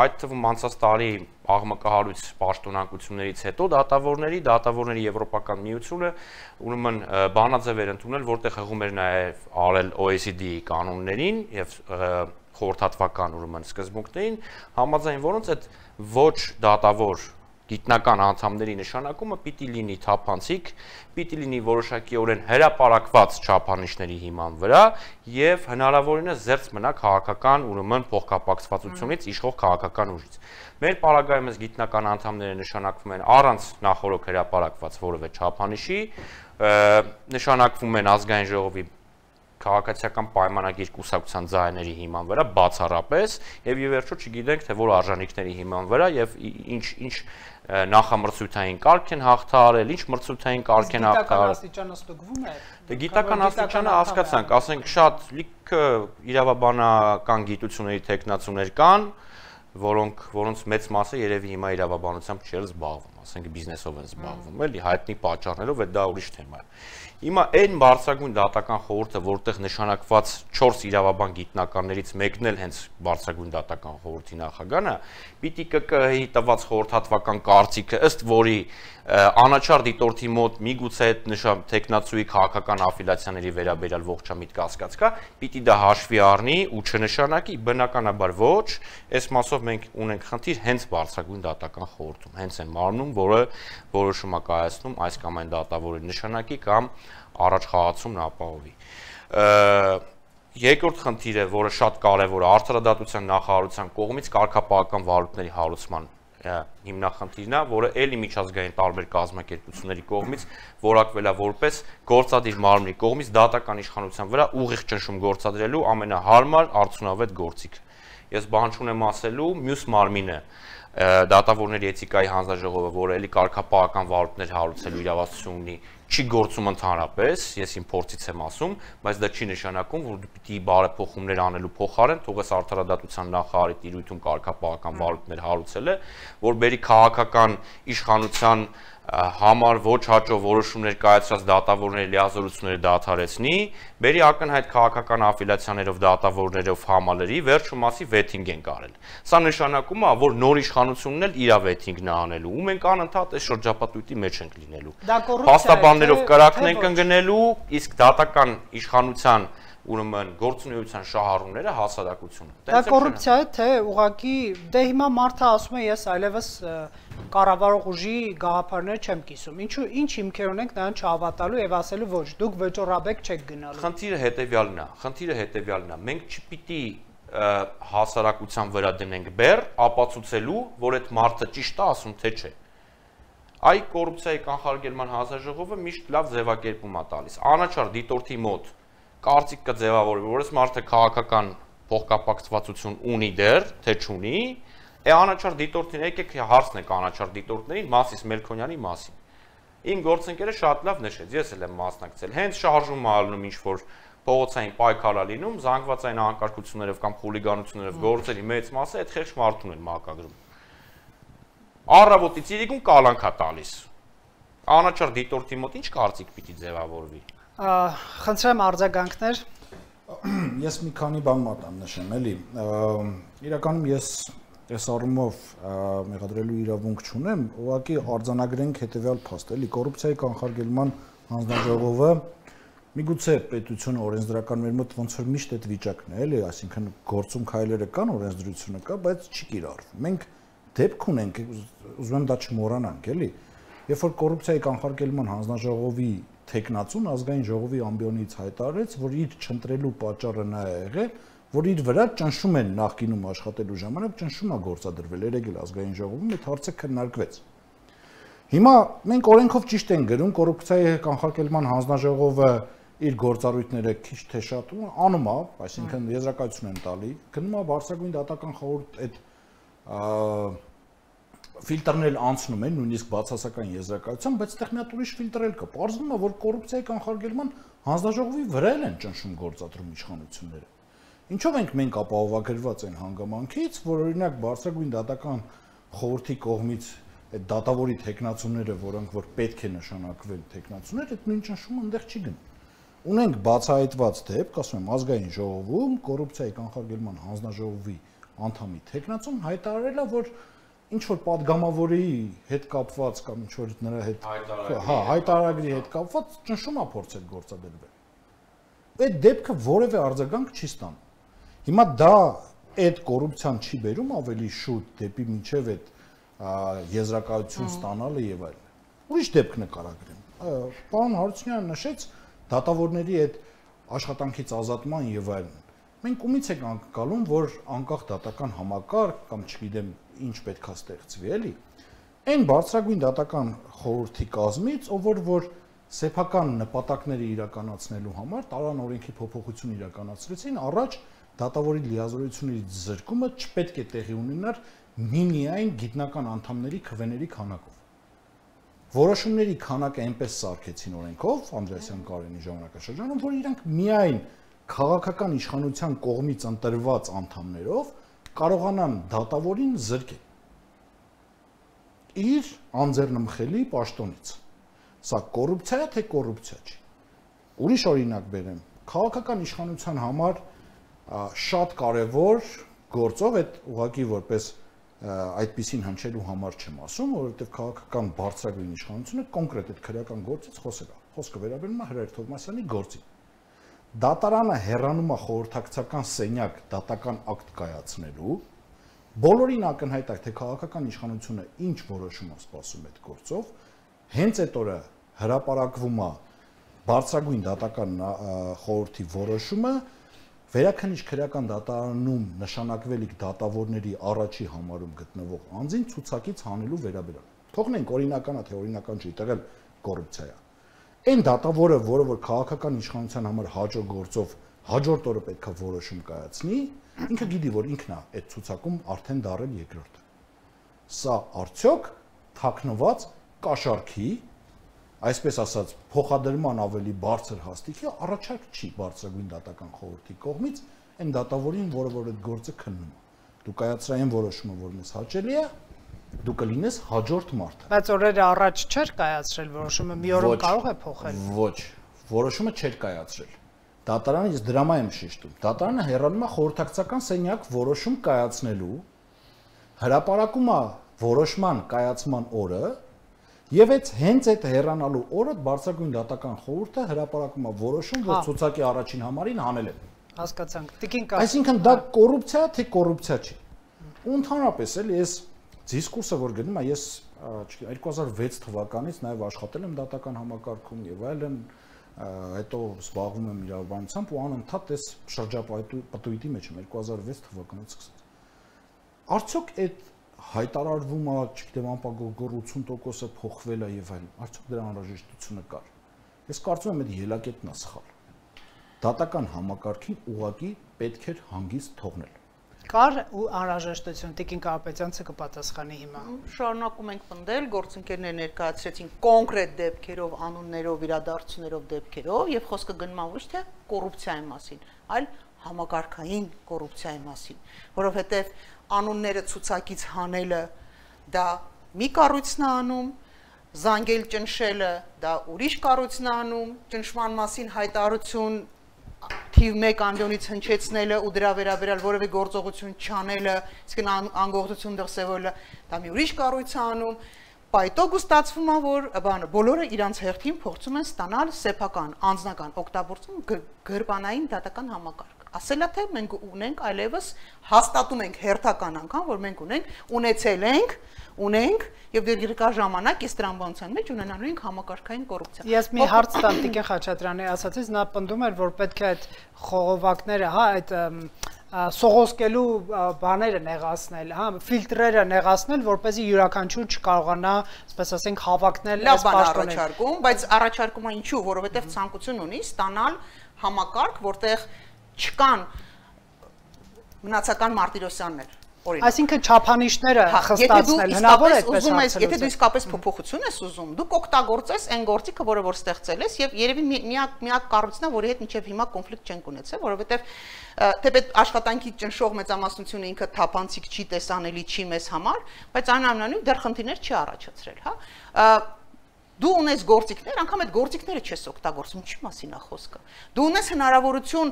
այդ թվում անցած տարի աղմկահարույց պաշտոնակություններից հետո դատավորների Եվրոպական միությունը ուրեմն բանաձև էր ընդունել, որտեղ հղում էր նաև արել OECD-ի կանոններին եւ խորհրդատվական ուրեմն սկզբունքներին, համաձայն որոնց այդ ոչ դատավոր գիտնական անդամների նշանակումը պիտի լինի թափանցիկ, պիտի լինի որոշակիորեն հրապարակված չափանիշների հիման վրա եւ հնարավորինս զերծ մնա քաղաքական ուրեմն փոխկապակցվածությունից իշխող քաղաքական ուժից։ Մեր պարագայում այս գիտնական անդամները նշանակվում են առանց նախորոք հրապարակված որևէ չափանիշի, նշանակվում են ազգային ժողովի քաղաքացիական պայմանագիր կուսակցության ձայների հիման վրա բացառապես եւ ի վերջո չգիտենք թե որ արժանինքների հիման վրա եւ ինչ նախամրցույթային կարգ են հաղթահարել, ինչ մրցույթային կարգ են հաղթահարել։ Գիտական աստիճանը ստուգվում է։ Դե գիտական աստիճանը հասկացանք, ասենք շատ լիքը իրավաբանական գիտությունների տեխնացուներ կան, որոնց մեծ մասը երևի հիմա իրավաբանությամբ չէր զբաղվում, ասենք բիզնեսով են զբաղվում, էլի հայտնի պատճառներով, դա ուրիշ թեմա է։ Հիմա այն բարձրագույն դատական խորհուրդը, որտեղ նշանակված 4 իրավաբան գիտնականներից մեկն էլ հենց բարձրագույն դատական խորհրդի նախագահն է, պիտի ԿԿՀ-ի տված խորհրդատվական կարծիքը, ըստ որի անաչառ դիտորդի մոտ միգուցե այդ նշան տեխնացուի քաղաքական աֆիլիացիաների վերաբերյալ ողջամիտ կասկած կա, պիտի դա հաշվի առնի ու չնշանակի, բնականաբար ոչ, այս մասով մենք ունենք խնդիր հենց բարձրագույն դատական խորհրդում, հենց այն մարմնում, որը որոշում է կայացնում այս կամ այն դատավորի նշանակի կամ առաջ խաղացումն ապահովի։ Երկրորդ խնդիրը, որը շատ կարևոր է, արդարադատության նախարարության կողմից կարգապահական վարույթների հարուցման հիմնախնդիրն է, որը ելի միջազգային տարբեր կազմակերպությունների կողմից որակվել է որպես գործադիր մարմնի կողմից դատական իշխանության վրա ուղիղ ճնշում գործադրելու ամենահարմար արդյունավետ գործիքը։ Ես բան չունեմ ասելու, մյուս մարմինը դատավորների էթիկայի հանձնաժողովը, որը էլի կարգապահական վարույթներ հարուցելու իրավասություն ունի, չի գործում ընդհանրապես, ես իմ փորձից եմ ասում, բայց դա չի նշանակում, որ պիտի բարեփոխումներ անելու փոխարեն թողես արդարադատության նախարարի տիրույթում կարգապահական վարույթներ հարուցել է, որ բերի քաղաքական իշխանության համար ոչ հաջող որոշումներ կայացրած դատավորների լիազորությունները դադարեցնի, բերի ակնհայտ քաղաքական աֆիլիացիաներով դատավորներով համալրի, վերջում ասի վեթինգ են կարել։ Սա նշանակում է, որ նոր իշխանությունն էլ իր վեթինգն է անելու, ու մենք անընդհատ այս շրջապատույտի մեջ ենք լինելու։ Փաստաբաններով կրակն ենք ընկնելու, իսկ դատական իշխանության ուրեմն գործունեության շահառուները հասարակությունը։ Դա կոռուպցիա է, թե ուղղակի դե հիմա մարդը ասում է ես այլևս կառավարող ուժի գաղափարներ չեմ կիսում։ Ինչ հիմքեր ունենք նրան չհավատալու եւ ասելու ոչ, դուք վճռաբեկ չեք գնալու։ Խնդիրը հետեւյալն է, մենք չպիտի հասարակության վրա դնենք բեռ, ապացուցելու, որ այդ մարդը ճիշտ է ասում, թե չէ։ Այ կոռուպցիայի կանխարգելման հանձնաժողովը միշտ լավ ձևակերպում է տալիս։ Անաչառ դիտորդի մոտ կարծիք կձևավորվի, որ այս մարդը քաղաքական փոխկապակցվածություն ունի դեռ, թե չունի, անաչառ դիտորդին եկեք հարցնեք անաչառ դիտորդներին Մասիս Մելքոնյանի մասին։ Իմ գործընկերը շատ լավ նշեց, ես էլ եմ մասնակցել։ Հենց շարժում է ալնում ինչ-որ փողոցային պայքար է լինում, զանգվածային անկարգություններով կամ խուլիգանություններով գործերի մեծ մասը այդ խեղճ մարդուն են մակագրում։ Առավոտից իրիկուն կալանք է տալիս։ Անաչառ դիտորդի մոտ ինչ կարծիք պիտի ձևավորվի։ Խնդրեմ արձագանքներ։ Ես մի քանի բան մատան նշեմ, էլի։ Իրականում ես այս առումով մեղադրելու իրավունք չունեմ, ուղղակի արձանագրենք հետևյալ փաստ, էլի կոռուպցիայի կանխարգելման հանձնաժողովը միգուցե պետությունը օրենսդրական մեր մոտ ոնց որ միշտ այդ վիճակն է, էլի, այսինքն գործում քայլերը կան, օրենսդրությունը կա, բայց չի կիրառվում։ Մենք դեպք ունենք, ուզում եմ դա չմոռանանք, էլի։ Երբ որ կոռուպցիայի կանխարգելման հանձնաժողովի տեխնացուն ազգային ժողովի ամբիոնից հայտարարեց, որ իր չընտրելու պատճառը նա է եղել, որ իր վրա ճնշում են նախկինում աշխատելու ժամանակ ճնշում է գործադրվել, երեգել ազգային ժողովում, այդ հարցը քննարկվեց։ Հիմա մենք օրենքով ճիշտ ենք գրում, կոռուպցիայի կանխարգելման հանձնաժողովը իր գործառույթները քիչ թե շատ անում է, այսինքն եզրակացություն են տալի, գնում է բարձրագույն դատական խորհուրդ այդ ֆիլտրն էլ անցնում են, նույնիսկ բացասական եզրակացության, բայց այդտեղ մի հատ ուրիշ ֆիլտր էլ կա։ Պարզվում է, որ կոռուպցիայի կանխարգելման հանձնաժողովի վրա են ճնշում գործադրում իշխանությունները։ Ինչով ենք մենք ապահովագրված այն հանգամանքից, որ օրինակ բարձրագույն դատական խորհրդի կողմից այդ դատավորի տեխնացուները, որոնք որ պետք է նշանակվեն տեխնացուներ, այդ նույն ճնշումը այնտեղ չի գնում։ Ունենք բացահայտված դեպք, ասում եմ, ազգային ժողովում կոռուպցիայի կանխարգելման հանձնաժողովի անդամի տեխնացուն հայտարարել է, որ ինչ որ падգամավորի հետ կապված կամ ինչ որ նրա հետ հայտարարագրի հետ կապված ճնշում է փորձել գործադրվել։ Այդ դեպքը որևէ արձագանք չի ստանում։ Հիմա դա այդ կոռուպցիան չի բերում ավելի շուտ դեպի մինչև այդ եզրակացություն ստանալը եւ այլն։ Ուրիշ դեպք նկարագրեմ։ Պարոն Հարությունյանը նշեց դատավորների այդ աշխատանքից ազատման եւ այլն։ Մենք ումից ենք անկալում, որ անկախ դատական համակարգ կամ չգիտեմ ինչ պետքա ստեղծվի, էլի։ Այն բարձրագույն դատական խորհրդի կազմից, ով որ սեփական նպատակները իրականացնելու համար տարան օրենքի փոփոխություն իրականացրեցին, առաջ դատավորի լիազորությունների զրկումը չպետք է տեղի ունենար միմիայն գիտնական անդամների քվեների քանակով։ Որոշումների քանակը այնպես սարքեցին օրենքով Անդրեասյան Կարենի ժամանակաշրջանում, որ իրանք միայն քաղաքական իշխանության կողմից ընտրված անդամներով կարողանան դատավորին զրկել իր անձեռնմխելի պաշտոնից։ Սա կոռուպցիա է, թե կոռուպցիա չի։ Ուրիշ օրինակ բերեմ, քաղաքական իշխանության համար շատ կարևոր գործով այդ ուղղակի որպես այդպեսին հնչելու համար չեմ ասում, որովհետև քաղաքական բարձրագույն իշխանությունը կոնկրետ այդ քրեական գործից խոսել է։ Խոսքը վերաբերում է Հրայր Թովմասյանի գործին։ Դատարանը հեռանում է խորհրդակցական սենյակ դատական ակտ կայացնելու, բոլորին ակնհայտ է, թե քաղաքական իշխանությունը ինչ որոշում է սպասում այդ գործով, հենց այդ օրը հրապարակվում է բարձրագույն դատական խորհրդի որոշումը վերաքննիչ քրեական դատարանում նշանակվելիք դատավորների առաջի համարում գտնվող անձին ցուցակից հանելու վերաբերյալ։ Թողնենք օրինական է, թե օրինական չի, տեղել կոռուպցիա է։ Այն դատավորը, որը որ քաղաքական իշխանության համար հաջող գործով հաջորդ օրը պետք է որոշում կայացնի, ինքը գիտի, որ ինքն է այդ ցուցակում արդեն դարել երկրորդը։ Սա արդյոք թաքնված կաշառքի, այսպես ասած, փոխադրման ավելի բարձր հաստիքի առաջարկ չի բարձրագույն դատական խորհրդի կողմից այն դատավորին, որը որ այդ գործը քննում է։ Դու կայացրային որոշումը, որ մեզ հաճելի է, դու կլինես հաջորդ մարդը։ Բայց օրերը առաջ չէր կայացրել որոշումը, մի օրում կարող է փոխել։ Ոչ, որոշումը չէր կայացրել։ Դատարանը ես դրամա եմ շեշտում։ Դատարանը հեռանում է խորհրդակցական սենյակ որոշում կայացնելու, հրապարակում է որոշման կայացման օրը, եւ հենց այդ հեռանալու օրը բարձրագույն դատական խորհուրդը հրապարակում է որոշում, որ ցուցակի առաջին համարին հանել է։ Հասկացանք։ Տիկին կա։ Այսինքն դա կոռուպցիա է, թե կոռուպցիա չի։ Ու ընդհանրապես էլի ես դիսկուրսը որ գնում եմ, ես 2006 թվականից նաև աշխատել եմ դատական համակարգում եւ այլն, հետո զբաղվում եմ իրավաբանությամբ ու անընդհատ այս շրջապատույտի մեջ եմ 2006 թվականից սկսած։ Արդյոք այդ հայտարարվում է, չգիտեմ, անպագոր 80%-ը փոխվել է եւ այլն, արդյոք դրա անհրաժեշտությունը կար։ Ես կարծում եմ, այդ ելակետն է սխալ։ Դատական համակարգին ուղղակի պետք էր հանգիստ թողնել։ Կար ու անհրաժեշտություն, Տիկին Կարապետյանցը կպատասխանի հիմա։ Շարունակում ենք պնդել, գործընկերներ ներկայացրեցին կոնկրետ դեպքերով, անուններով, իրադարձություններով, դեպքերով եւ խոսքը գնում է ոչ թե կոռուպցիայի մասին, այլ համակարգային կոռուպցիայի մասին, որովհետեւ անունները ցուցակից հանելը դա մի կառույցն է անում, զանգել ճնշելը դա ուրիշ կառույցն է անում, ճնշման մասին հայտարարություն թիվ 1 անձոնից հնչեցնելը ու դրա վերաբերյալ որևէ գործողություն չանելը, իսկ անգողդություն դրսևորելը դա մի ուրիշ կառույց է անում, պայտոկ ու ստացվում է, որ բոլորը իրանց հերթին փորձում են ստանալ սեփական, անձնական օգտագործում գրպանային դատական համակարգ։ Ասելա թե մենք ունենք այլևս հաստատում ենք հերթական անգամ, որ մենք ունենք եւ դեռ երկար ժամանակ այս տրամաբանության մեջ ունենալու ենք համակարգային կոռուպցիա։ Ես մի հարց տամ Տիկին Խաչատրյանի ասացից, նա պնդում էր, որ պետք է այդ խողովակները, հա, այդ սողոսկելու բաները նեղացնել, հա, ֆիլտրերը նեղացնել, որպեսզի յուրաքանչյուր չկարողանա, ասես ասենք, հավակնել այս պաշտոնները։ Առաջարկում, բայց առաջարկումը ինչու, որովհետեւ ցանկություն ունի ստանալ համակարգ, որտեղ չկան մնացական Մարտիրոսյաններ, օրինակ։ Այսինքն չափանիշները խստացնել հնարավոր է այդպես հարցել։ Եթե դու իսկապես փոփոխություն ես ուզում, դու կօգտագործես այն գործիքը, որը որ ստեղծել ես, եւ երևի միակ կառույցն է, որի հետ մինչեւ հիմա կոնֆլիկտ չենք ունեցել, որովհետեւ թեպետ աշխատանքի ճնշող մեծամասնությունը ինքը թափանցիկ չի, տեսանելի չի մեզ համար, բայց այնուամենայնիվ դեռ խնդիրներ չի առաջացրել, հա։ Դու ունես գործիքներ, անգամ այդ գործիքները չես օգտագործում, ինչի մասին է խոսքը։ Դու ունես հնարավորություն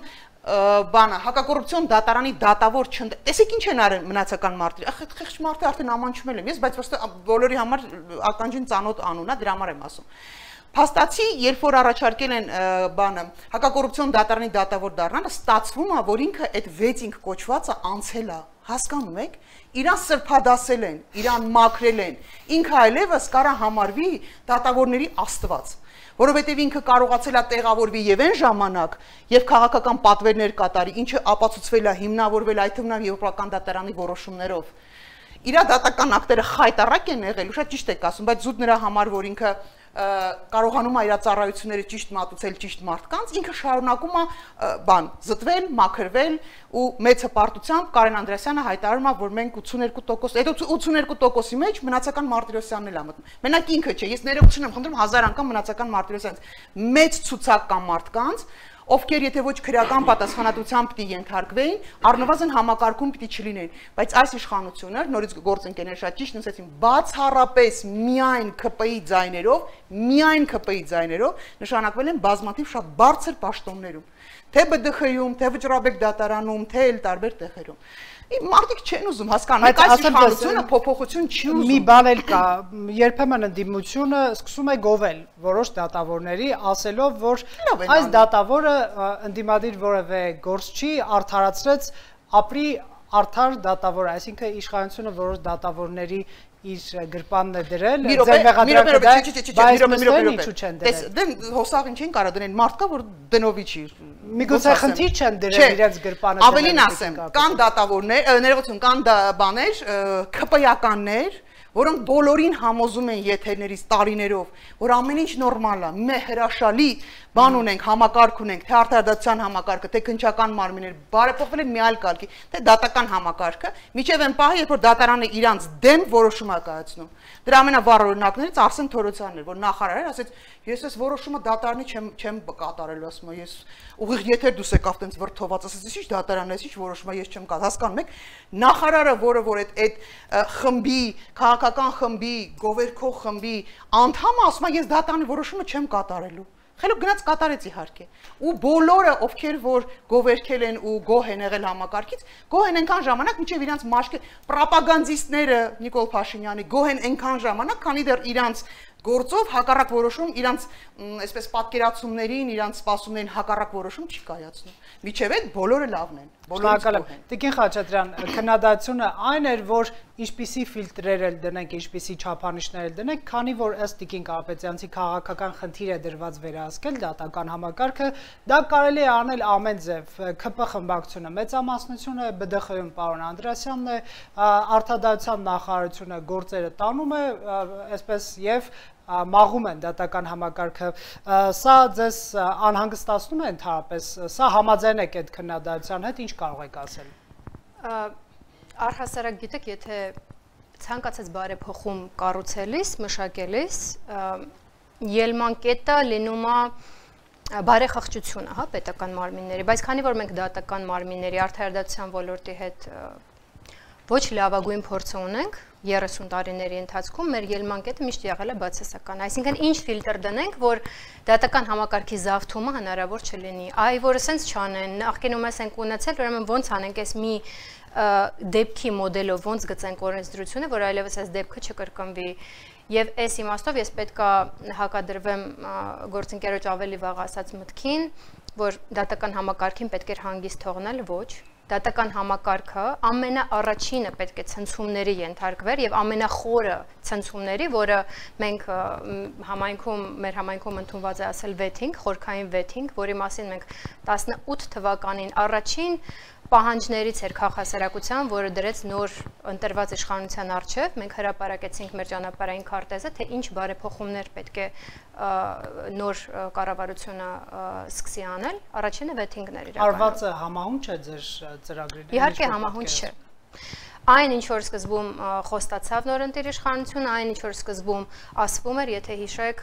հակակոռուպցիոն դատարանի դատավոր չընդ։ Տեսեք ինչ են արել մնացական մարդիկ։ Խեղճ մարդը արդեն ամանչում եմ ես, բայց ոստը բոլորի համար ականջին ծանոթ անուն է, դրա համար եմ ասում։ Փաստացի, երբ որ առաջարկել են հակակոռուպցիոն դատարանի դատավոր դառնալը, ստացվում է, որ ինքը այդ 6 կոչվածը անցել է, հասկանում եք, իրան սրբադասել են, իրան մաքրել են, ինքը այլևս կարա համարվի դատավորների աստված, որովհետև ինքը կարողացել է տեղավորվի եւ այն ժամանակ եւ քաղաքական պատվերներ կատարի, ինչը ապացուցվել է, հիմնավորվել այդ թվում եվրոպական դատարանի որոշումներով։ Իր դատական ակտերը խայտարակ են եղել, շատ ճիշտ եք ասում, բայց զուտ նրա համար, որ ինքը կարողանում է իր ծառայությունները ճիշտ մատուցել ճիշտ մարդկանց, ինքը շարունակում է զտվել, մաքրվել ու մեծ հպարտությամբ Կարեն Անդրեասյանը հայտարարում է, որ մենք 82%, այդ 82%-ի մեջ մնացական Մարտիրոսյանն էլ է մտնում։ Մենակ ինքը չէ, ես ներողություն եմ խնդրում 1000 անգամ մնացական Մարտիրոսյանից։ Մեծ ցուցակ կան մարդկանց, ովքեր եթե ոչ քրեական պատասխանատվության պիտի ենթարկվեին, առնվազն համակարգում պիտի չլինեին, բայց այս իշխանությունը, նորից գործընկերներ շատ ճիշտ ասեցին, բացառապես միայն ԿՊ-ի ձայներով նշանակվել են բազմաթիվ շատ բարձր պաշտոններում, թե ԲԴԽ-ում, թե Վճռաբեկ դատարանում, թե էլ տարբեր տեղերում։ Մարդիկ չեն ուզում հասկանալ, այս իշխանությունը փոփոխություն չի ուզում։ Մի բան էլ կա, երբեմն ընդդիմությունը սկսում է գովել որոշ դատավորների, ասելով, որ այս դատավորը ընդդիմադիր որևէ գործ չի, արդարացրեց, ապրի արդար դատավոր, այսինքն իշխանությունը որոշ դատավորների իր գրպանն է դրել, դեն հոսաղին չեն կարա դնել, մարդ կա, որ դնովի չի։ Միգուցե խնդիր չեն դրել իրենց գրպանը։ Ավելին ասեմ, կան դատավորներ, ներողություն, կան բաներ, ԿՊ-ականներ, որոնք բոլորին համոզում են եթերներից տարիներով, որ ամեն ինչ նորմալ է, մի հրաշալի բան ունենք, համակարգ ունենք, թե արդարադատության համակարգը, թե քննչական մարմիններ, բարեփոխվել են մի այլ կարգի, թե դատական համակարգը, միջև այն պահը, երբ որ դատարանը իրանց դեմ որոշում է կայացնում։ Դրա ամենավառ օրինակներից Արսեն Թորոսյանն էր, որ նախարարը ասեց, ես այս որոշումը դատարանի չեմ կատարելու, ասում եմ, ես ուղիղ եթեր դուս եկավ տենց վրթոված, ասեց, ի՞նչ դատարան է, ի՞նչ որոշումը ես չեմ կատարել, հասկանում եք, նախարարը, որ այդ խմբի, քաղաքական խմբի, գովերքող խմբի անդամը ասում է, ես դատարանի որոշումը չեմ կատարելու։ Խելոք գնաց կատարեց իհարկե։ Ու բոլորը, ովքեր որ գովերքել են ու գոհ են եղել համակարգից, գոհ են այնքան ժամանակ, մինչև իրանց մաշկը պրոպագանդիստները Նիկոլ Փաշինյանի գոհ են այնքան ժամանակ, քանի դեռ իրանց գործով հակառակ որոշում իրանց այսպես պատկերացումներին, իրանց սպասումներին հակառակ որոշում չի կայացնում։ Միջև այդ բոլորը լավն են, բոլորը։ Տիկին Խաչատրյան, քննադատությունը այն էր, որ ինչպիսի ֆիլտրեր էլ դնենք, ինչպիսի չափանիշներ էլ դնենք, քանի որ ըստ Տիկին Կարապետյանցի քաղաքական խնդիր է դրված վերահսկել դատական համակարգը, դա կարելի է անել ամեն ձև, ՔՊ խմբակցությունը մեծամասնությունը, ԲԴԽ-ում պարոն Անդրեասյանն է, Արդարադատության նախարարությունը գործերը տանում է, այսպես եւ մաղում են դատական համակարգը, սա ձեզ անհանգստացնում է ընդհանրապես, սա համաձայն եք այդ քննադատության հետ, ինչ կարող եք ասել։ Առհասարակ գիտեք, եթե ցանկացած բարեփոխում կառուցելիս, մշակելիս, ելման կետը լինում է բարեխղճությունը, հա, պետական մարմինների, բայց քանի որ մենք դատական մարմինների արդարադատության ոլորտի հետ ոչ լավագույն փորձը ունենք 30 տարիների ընթացքում, մեր ելման կետը միշտ եղել է բացասական, այսինքն ինչ ֆիլտր դնենք, որ դատական համակարգի զավթումը հնարավոր չլինի, այ որ սենց չանեն, նախկինում ես ենք ունեցել, ուրեմն ոնց անենք այս մի դեպքի մոդելով ոնց գծենք օրենսդրությունը, որ այլևս այս դեպքը չկրկնվի։ Եվ այս իմաստով ես պետք է հակադրվեմ գործընկերոջ ավելի վաղ ասած մտքին, որ դատական համակարգին պետք է հանգիստ թողնել, ոչ, դատական համակարգը ամենաառաջինը պետք է ցնցումների ենթարկվեր եւ ամենախորը ցնցումների, որը մենք մեր համայնքում ընդունված է ասել վեթինգ, խորքային վեթինգ, որի մասին մենք 18 թվականին առաջին պահանջներից էր քաղաքասարակության, որը դրեց նոր ընտրված իշխանության առջև, մենք հրապարակեցինք մեր ճանապարհային քարտեզը, թե ինչ բարեփոխումներ պետք է նոր կառավարությունը սկսի անել, առաջինը վեթինգներ իրականացնել։ Արվածը համահունչ է ձեր ծրագրին։ Իհարկե համահունչ չէ։ Այն ինչ որ սկզբում խոստացավ նորընտիր իշխանությունը, այն ինչ որ սկզբում ասվում էր, եթե հիշեք,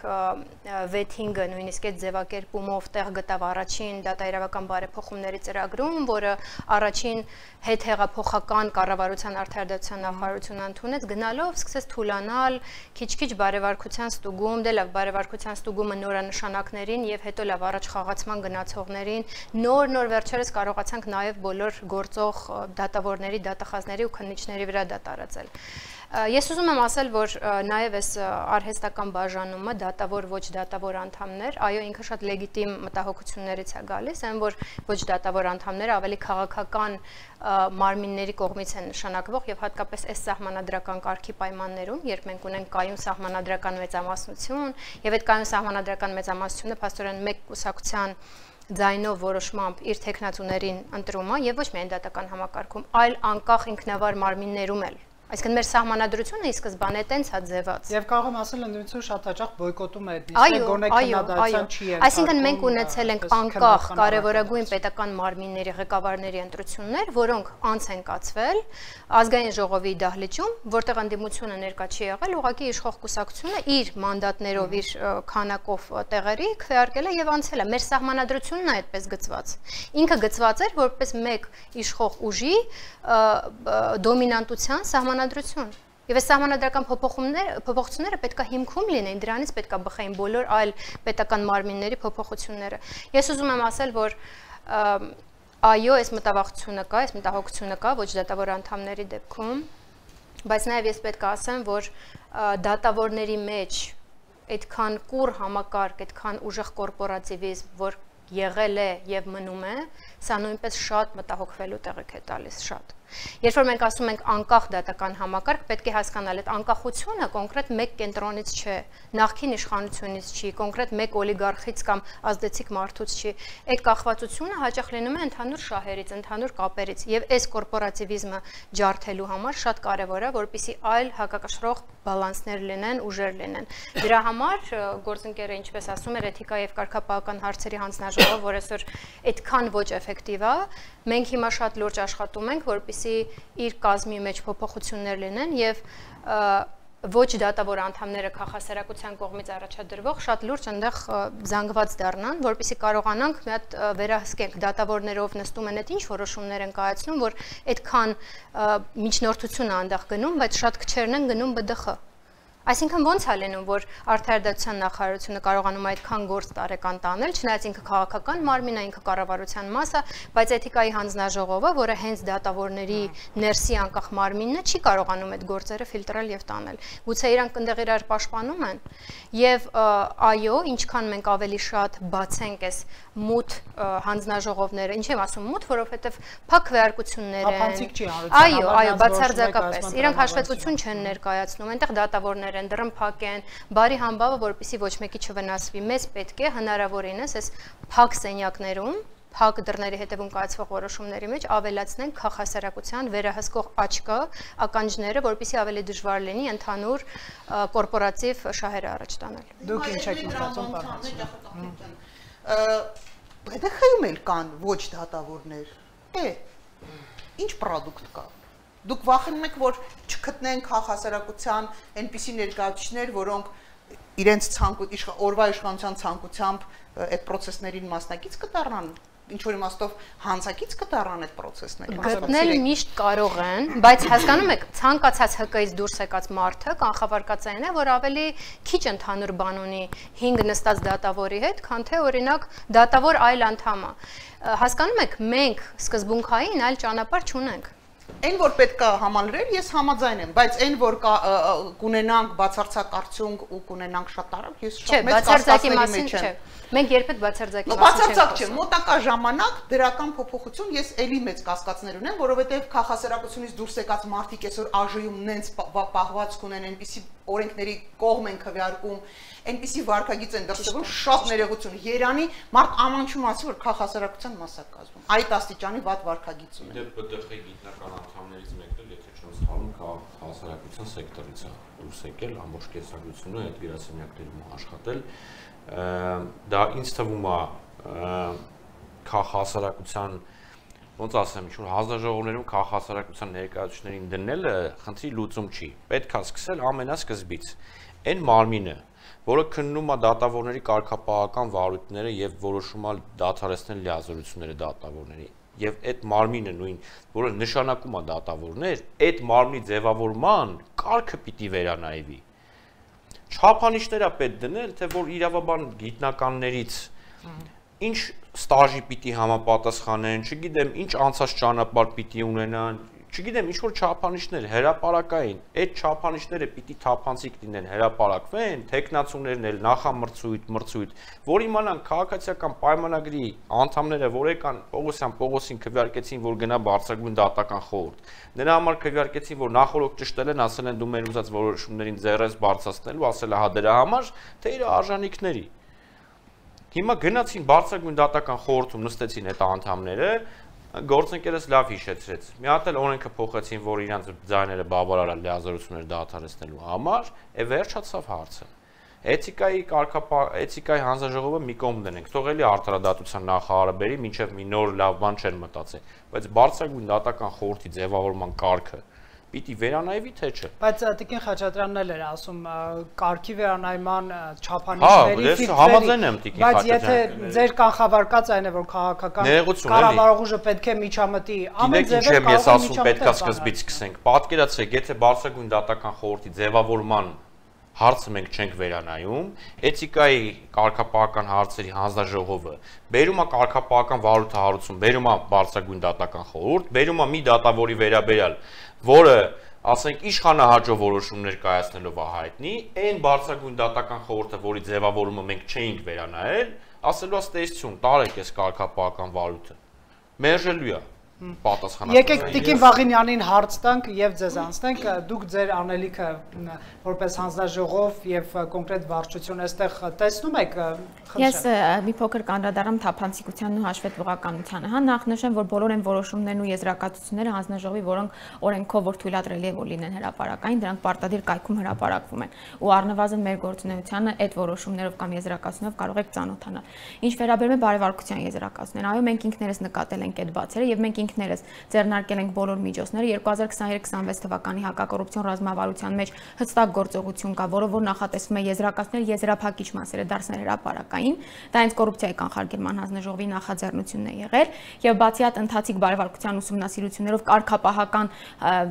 վեթինգը նույնիսկ այդ ձևակերպումով տեղ գտավ առաջին դատաիրավական բարեփոխումների ծրագրում, որը առաջին հետհեղափոխական կառավարության արդարադատության նախարարությունը ընդունեց, գնալով սկսեց թուլանալ, քիչ-քիչ բարեվարկության ստուգում, դե լավ բարեվարկության ստուգումը նորանշանակներին եւ հետո լավ առաջ խաղացման գնացողներին, նոր վերջերս կարողացանք նաեւ բոլոր գործող դատավորների, դատախազների ու քննիչների վրա դա տարածել։ Ես ուզում եմ ասել, որ նաև այս արհեստական բաժանումը դատավոր ոչ դատավոր անդամներ, այո, ինքը շատ լեգիտիմ մտահոգություններից է գալիս, այն որ ոչ դատավոր անդամները ավելի քաղաքական մարմինների կողմից են նշանակվող եւ հատկապես այս սահմանադրական կարգի պայմաններում, երբ մենք ունենք կայուն սահմանադրական մեծամասնություն եւ այդ կայուն սահմանադրական մեծամասնությունը փաստորեն մեկ կուսակցության ձայնով որոշմամբ իր տեխնացուներին ընտրում է եւ ոչ միայն դատական համակարգում, այլ անկախ ինքնավար մարմիններում էլ Այսինքն մեր սահմանադրությունը ի սկզբանե տենց է ձևած։ Եվ կարող եմ ասել, ընդդիմությունը շատ հաճախ բոյկոտում է այդ նիստը, գոնե քննադատության չի ենթարկվում։ Այսինքն մենք ունեցել ենք անկախ կարևորագույն պետական մարմինների ղեկավարների ընտրություններ, որոնք անց են կացվել ազգային ժողովի դահլիճում, որտեղ ընդդիմությունը ներկա չի եղել, ուղղակի իշխող կուսակցությունը իր մանդատներով, իր քանակով տեղերի քվեարկել է եւ անցել է։ Մեր սահմանադրությունն է այդպես գծված։ Ինքը գծված էր որպես մեկ իշխող ուժի դոմինանտության սահմանադրություն։ Եվ այս սահմանադրական փոփոխությունները պետք է հիմքում լինեն, դրանից պետք է բխեին բոլոր այլ պետական մարմինների փոփոխությունները։ Ես ուզում եմ ասել, որ այո, այս մտավախությունը կա, այս մտահոգությունը կա ոչ դատավոր անդամների դեպքում, բայց նաև ես պետք է ասեմ, որ դատավորների մեջ այդքան կուռ համակարգ, այդքան ուժեղ կորպորատիվիզմ, որ եղել է եւ մնում է, սա նույնպես շատ մտահոգվելու տեղիք է տալիս, շատ։ Երբ որ մենք ասում ենք անկախ դատական համակարգ, պետք է հասկանալ այդ անկախությունը կոնկրետ մեկ կենտրոնից չէ, նախկին իշխանությունից չի, կոնկրետ մեկ օլիգարխից կամ ազդեցիկ մարդուց չի։ Այդ կախվածությունը հաճախ լինում է ընդհանուր շահերից, ընդհանուր կապերից, եւ այս կորպորատիվիզմը ջարդելու համար շատ կարեւոր է, որպեսզի այլ հակակշռող բալանսներ լինեն, ուժեր լինեն։ Դրա համար գործընկերը, ինչպես ասում էր, էթիկա եւ կարգապահական հարցերի հանձնաժողովը, որ այսօր այդքան ոչ էֆեկտիվ է, մենք հիմա շատ լուրջ աշխատում ենք, որպեսզի իր կազմի մեջ փոփոխություններ լինեն եւ ոչ դատավոր անդամները քաղաքասարակության կողմից առաջադրվող շատ լուրջ այնտեղ զանգված դառնան, որպեսզի կարողանանք մի հատ վերահսկենք դատավորներով նստում են այդ ինչ որոշումներ են կայացնում, որ այդքան միջնորդություն է այնտեղ գնում, բայց շատ քչերն են գնում ԲԴԽ։ Այսինքն ոնց է լինում, որ Արդարադատության նախարարությունը կարողանում այդքան գործ տարեկան տանել, չնայած ինքը քաղաքական մարմին է, ինքը կառավարության մաս է, բայց էթիկայի հանձնաժողովը, որը հենց դատավորների ներսի անկախ մարմինն է, չի կարողանում այդ գործերը ֆիլտրել եւ տանել։ Գուցե իրանք այնտեղ իրար պաշտպանում են, եւ այո, ինչքան մենք ավելի շատ բացենք այս մութ հանձնաժողովները, ինչ եմ ասում մութ, որովհետեւ փակ քվեարկություններ են։ Այո, բացարձակապես։ Իրանք հաշվետվություն չեն ներկայացնում, այնտեղ դատավորներ են, դռնփակ են, բարի համբավը, որպեսզի ոչ մեկի չվնասվի։ Մեզ պետք է հնարավորինս այս փակ սենյակներում, փակ դռների հետևում կայացվող որոշումների մեջ ավելացնենք քաղաքասարակության վերահսկող աչքը, ականջները, որպեսզի ավելի դժվար լինի ընդհանուր կորպորատիվ շահերը առաջ տանել։ Դուք ինչ եք մտածում բարձր։ ԲԴԽ-ում էլ կան ոչ դատավորներ։ Ինչ պրոդուկտ կա։ Դուք վախենում եք, որ չգտնեն քաղաքասարակության այնպիսի ներկայացուցիչներ, որոնք իրենց օրվա իշխանության ցանկությամբ այդ process-ներին մասնակից կդառնան, ինչ որ իմաստով հանցակից կդառնան այդ process-ներին։ Գտնել միշտ կարող են, բայց հասկանում եք, ցանկացած ՀԿ-ից դուրս եկած մարդը կանխավարկածային է, որ ավելի քիչ ընդհանուր բան ունի 5 նստած դատավորի հետ, քան թե օրինակ դատավոր այլ անդամ է։ Հասկանում եք, մենք սկզբունքային այլ ճանապարհ չունենք։ Այն որ պետք է համալրել, ես համաձայն եմ, բայց այն որ կունենանք բացարձակ արդյունք ու կունենանք շատ արագ, ես շատ մեծ կասկածների մեջ եմ։ Մենք երբեք բացարձակի մասին չենք բացարձակ չէ, մոտակա ժամանակ դրական փոփոխություն ես էլի մեծ կասկածներ ունեմ, որովհետև քաղաքասարակությունից դուրս եկած մարդիկ այսօր ԱԺ-ում նենց պահվածք ունեն, այնպիսի օրենքների կողմ են քվեարկում, այնպիսի վարկագիծ են դրսևորում, շատ ներողություն։ Երանի մարդ ամանչում ասի, որ քաղաքասարակության մաս է կազմում։ Այդ աստիճանի վատ վարկագիծ ունեն։ Դե ԲԴԽ-ի գիտնական անդամներից մեկն էլ, եթե չեմ սխալվում, քաղաքասարակության սեկտորից է դուրս եկել, ամբողջ կեսագրությունը այդ գրասենյակներում աշխատել։ Դա ինձ թվում է քաղաքասարակության, ոնց ասեմ, ինչ-որ հանձնաժողովներում քաղաքասարակության ներկայացուցիչներին դնելը խնդրի լուծում չի։ Պետք է սկսել ամենասկզբից։ Այն մարմինը, որը քննում է դատավորների կարգապահական վարույթները եւ որոշում է դադարեցնել լիազորությունները դատավորների, եւ այդ մարմինը նույն, որը նշանակում է դատավորներ, այդ մարմնի ձևավորման կարգը պիտի վերանայվի։ Չափանիշներ է պետք դնել, թե որ իրավաբան գիտնականներից ինչ ստաժի պիտի համապատասխանեն, չգիտեմ, ինչ անցած ճանապարհ պիտի ունենան, չգիտեմ, ինչ որ չափանիշներ հրապարակային, այդ չափանիշները պիտի թափանցիկ լինեն, հրապարակվեն, տեխնացուներն էլ նախամրցույթ, որ իմանան քաղաքացիական պայմանագրի անդամները, որ եկան Պողոսին քվեարկեցին, որ գնա բարձրագույն դատական խորհուրդ։ Նրա համար քվեարկեցին, որ նախորդ ճշտել են, ասել են դու մեր ուզած որոշումներին ձեռես բարձրացնելու, ասել է հա դրա համար, թե իր արժանինքների։ Հիմա գնացին բարձրագույն դատական խորհրդում նստեցին այդ անդամները, Գործընկերս լավ հիշեցրեց։ Մի հատ էլ օրենքը փոխեցին, որ իրանց ձայները բավարարել լիազորությունները դադարեցնելու համար, է վերջացավ հարցը։ Էթիկայի հանձնաժողովը մի կողմ դնենք, թող էլի արդարադատության նախարարը բերի, մինչև մի նոր լավ բան չեն մտածել, բայց բարձրագույն դատական խորհրդի ձևավորման կարգը պիտի վերանայվի թե չէ։ Բայց Տիկին Խաչատրյանն էլ էր ասում կարգի վերանայման չափանիշների ֆիլտրերի։ Համաձայն եմ Տիկին Բայց եթե ձեր կանխավարկած այն է, որ քաղաքական կառավարող ուժը պետք է միջամտի, ամեն ձևով ես ասում պետքա սկզբից սկսենք։ Պատկերացրեք, եթե բարձրագույն դատական խորհրդի ձևավորման հարցը մենք չենք վերանայում, էթիկայի կարգապահական հարցերի հանձնաժողովը բերում է կարգապահական վարույթահարություն, բերում է բարձրագույն դատական խորհուրդ, բերում է մի դատավորի վերաբերյալ, որը ասենք իշխանահաջող որոշումներ կայացնելով է հայտնի, այն բարձրագույն դատական խորհուրդը, որի ձևավորումը մենք չէինք վերանայել, ասելու է ստեյսություն, տարեք այս կարգապահական վարույթը։ Մերժելու է պատասխանատու։ Եկեք Տիկին Վաղինյանին հարց տանք եւ ձեզ անցնենք, դուք ձեր անելիքը որպես հանձնաժողով եւ կոնկրետ վարչություն այստեղ տեսնում եք։ Ես մի փոքր կանդրադառնամ թափանցիկությանն ու հաշվետվողականությանը։ Հա նախ նշեմ, որ բոլոր այն որոշումներն ու եզրակացությունները հանձնաժողովի, որոնք օրենքով որ թույլատրելի է որ լինեն հրապարակային, դրանք պարտադիր կայքում հրապարակվում են։ Ու առնվազն մեր գործունեությանը այդ որոշումներով կամ եզրակացությունով կարող եք ծանոթանալ։ Ինչ վերաբերում է բարեվարկության եզրակացություններին, այո, մենք ինքներս նկատել ենք այդ բացերը եւ մենք ինքներս ձեռնարկել ենք բոլոր միջոցները 2023-26 թվականի հակակոռուպցիոն ռազմավարության մեջ հստակ գործողություն կա, որը որ նախատեսվում է եզրակացնել եզրափակիչ մասերը դարձնել հրապարակային, դա հենց կոռուպցիայի կանխարգելման հանձնաժողովի նախաձեռնությունն է եղել եւ բացի այդ ընթացիկ բարեվարկության ուսումնասիրություններով կարգապահական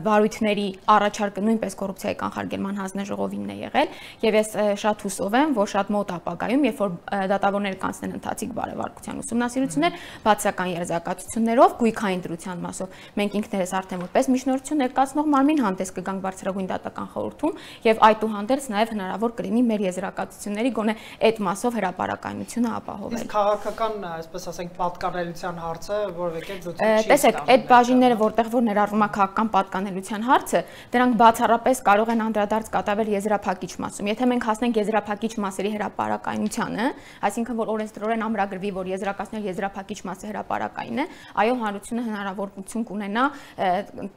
վարույթների առաջարկը նույնպես կոռուպցիայի կանխարգելման հանձնաժողովինն է եղել եւ ես շատ հուսով եմ, որ շատ մոտ ապագայում, երբ որ դատավորները կանցնեն ընթացիկ բարեվարկության ուսումնասիրություններ, բացական եզրակացություններով գույքային դրության մասով մենք ինքներս արդեն որպես միջնորդություն ներկայացնող մարմին հանդես կգանք բարձրագույն դատական խորհրդում եւ այդուհանդերձ նաեւ հնարավոր կլինի մեր եզրակացությունների գոնե այդ մասով հրապարակայնությունը ապահովել։ Իսկ քաղաքական, այսպես ասենք, պատկանելիության հարցը որևէ կերպ զուտ չի։ Տեսեք, այդ բաժինները, որտեղ որ ներառվում է քաղաքական պատկանելիության հարցը, դրանք բացառապես կարող են անդրադարձ կատարվել եզրափակիչ մասում։ Եթե մենք հասնենք եզրափակիչ մասերի հրապարակայնությանը, այսինքն որ օրենսդրորեն ամրագրվի, որ եզրակացնել եզրափակիչ մասը հրապարակային է, այո, հանրությունը հնարավորություն կունենա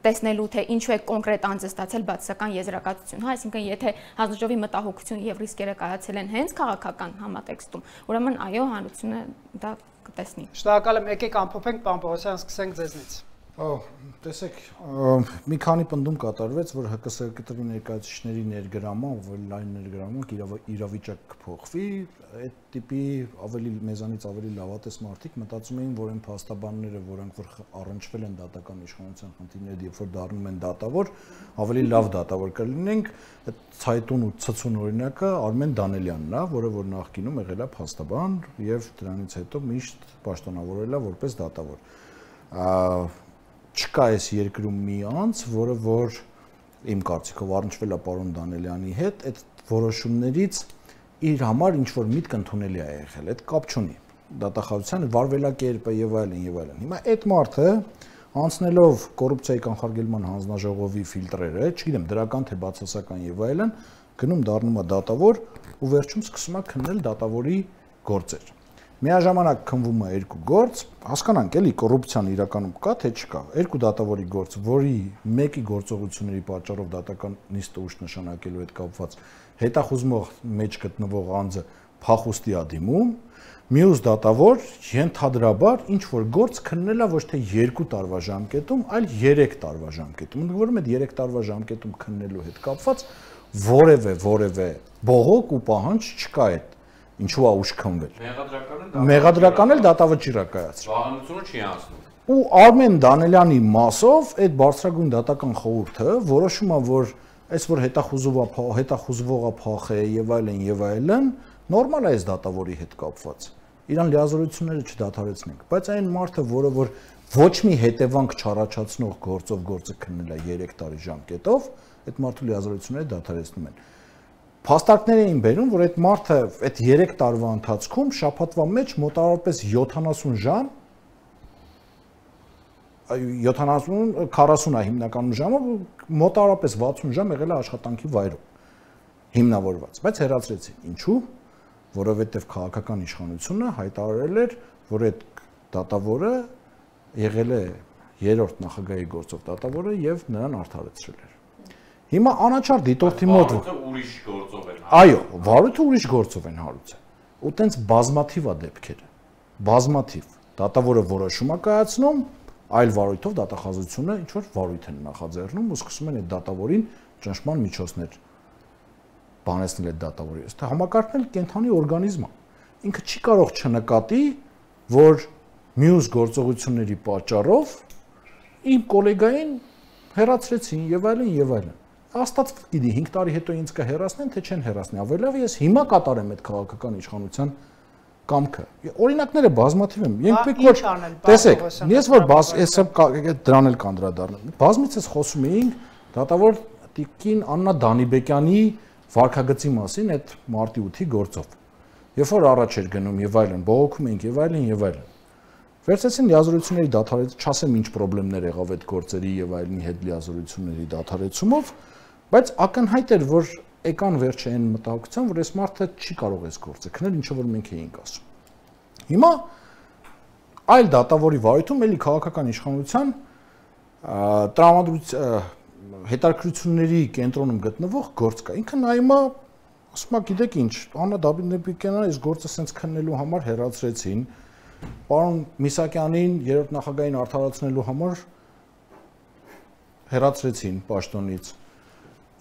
տեսնելու թե ինչու է կոնկրետ անձը ստացել բացասական եզրակացություն, հա, այսինքն եթե հանձնաժողովի մտահոգությունը եւ ռիսկերը կայացել են հենց քաղաքական համատեքստում, ուրեմն այո, հանրությունը դա կտեսնի։ Շնորհակալ եմ, եկեք ամփոփենք, պարոն Պողոսյան, սկսենք ձեզնից։ Տեսեք, մի քանի պնդում կատարվեց, որ ՀԿՍԿՏ-ի ներկայացուցիչների ներգրաման, ավելի լայն ներգրաման իրավիճակ կփոխվի, այդ տիպի ավելի մեզանից ավելի լավատես մարդիկ մտածում էին, որ այն փաստաբանները, որոնք որ առնչվել են դատական իշխանության խնդիրների, երբ որ դառնում են դատավոր, ավելի լավ դատավոր կլինենք, այդ ցայտուն ու ցցուն օրինակը Արմեն Դանելյանն է, որը որ նախկինում եղել է փաստաբան եւ դրանից հետո միշտ պաշտոնավորել է որպես դատավոր։ Չկա այս երկրում մի անձ, որը որ իմ կարծիքով առնչվել է պարոն Դանելյանի հետ, այդ որոշումներից իր համար ինչ որ միտք ընդունելի է եղել, այդ կապ չունի դատախազության վարվելակերպը եւ այլն եւ այլն։ Հիմա այդ մարդը անցնելով կոռուպցիայի կանխարգելման հանձնաժողովի ֆիլտրերը, չգիտեմ դրական թե բացասական եւ այլն, գնում դառնում է դատավոր ու վերջում սկսում է քննել դատավորի գործեր։ Միաժամանակ քնվում է երկու գործ, հասկանանք էլի կոռուպցիան իրականում կա թե չկա։ Երկու դատավորի գործ, որի մեկի գործողությունների պատճառով դատական նիստը ուժ նշանակելու հետ կապված հետախուզմող մեջ գտնվող անձը փախուստի է դիմում, մյուս դատավոր ենթադրաբար ինչ որ գործ քննել է ոչ թե 2 տարվա ժամկետում, այլ 3 տարվա ժամկետում։ Ընդգրկում այդ 3 տարվա ժամկետում քննելու հետ կապված որևէ բողոք ու պահանջ չկա այդ ինչու է ուժ քնվել։ Մեղադրական էլ դատավճիռ է կայացրել։ Վահանությունը չի անցնում։ Ու Արմեն Դանելյանի մասով այդ բարձրագույն դատական խորհուրդը որոշում է, որ այս որ հետախուզվողը փախ է եւ այլն, նորմալ է այս դատավորի հետ կապված։ Իրան լիազորությունները չդադարեցնենք, բայց այն մարդը, որը որ ոչ մի հետևանք չառաջացնող գործով գործը քննել է 3 տարի ժամկետով, այդ մարդու լիազորությունները դադարեցնում են։ Փաստարկներ էին բերում, որ այդ մարդը այդ 3 տարվա ընթացքում շաբաթվա մեջ մոտավորապես 70 ժամ 40 է հիմնականում ժամը, մոտավորապես 60 ժամ եղել է աշխատանքի վայրում հիմնավորված, բայց հեռացրեցին։ Ինչու՞։ Որովհետև քաղաքական իշխանությունը հայտարարել էր, որ այդ դատավորը եղել է երրորդ նախագահի գործող դատավորը եւ նրան արդարացրել էր։ Հիմա անաչառ դիտորդի մոտ ուրիշ գործով են։ Այո, վարույթը ուրիշ գործով են հարուցել։ Ու տենց բազմաթիվ է դեպքերը։ Բազմաթիվ։ Դատավորը որոշում է կայացնում, այլ վարույթով դատախազությունը ինչ որ վարույթ են նախաձեռնում ու սկսում են այդ դատավորին ճնշման միջոցներ բանեցնել այդ դատավորի։ Ըստ համակարգն էլ կենթանի օրգանիզմ է։ Ինքը չի կարող չնկատի, որ մյուս գործողությունների պատճառով իմ գոլեգային հեռացրեցին եւ այլն եւ այլն։ Աստված գիտի 5 տարի հետո ինձ կհեռացնեն, թե չեն հեռացնի։ Ավելի լավ ես հիմա կատարեմ այդ քաղաքական իշխանության կամքը։ Օրինակները բազմաթիվ են։ Ենթեք որ տեսեք, ես որ ես դրան էլ կանդրադառնամ։ Բազմիցս խոսում էինք դատավոր Տիկին Աննա Դանիբեկյանի վարքագծի մասին այդ մարտի 8-ի գործով։ Երբ որ առաջ էր գնում եւ այլն, բողոքում էինք եւ այլն եւ այլն։ Վերցեցին լիազորությունների դադարեցում, չասեմ ինչ խնդիրներ եղավ այդ գործերի եւ այլնի հետ լիազորությունների դադարեցումով, բայց ակնհայտ էր, որ եկան վերջը այն մտահոգության, որ այս մարդը չի կարող այս գործը քնել, ինչը որ մենք էինք ասում։ Հիմա այլ դատավորի վարույթում էլի քաղաքական իշխանության տրամադրության հետաքրքրությունների կենտրոնում գտնվող գործ կա։ Ինքը նայում է, ասում է, գիտեք ինչ, Աննա Դանիբեկյանը այս գործը սենց քննելու համար հեռացրեցին, պարոն Միսակյանին երրորդ նախագահին արդարացնելու համար հեռացրեցին պաշտոնից։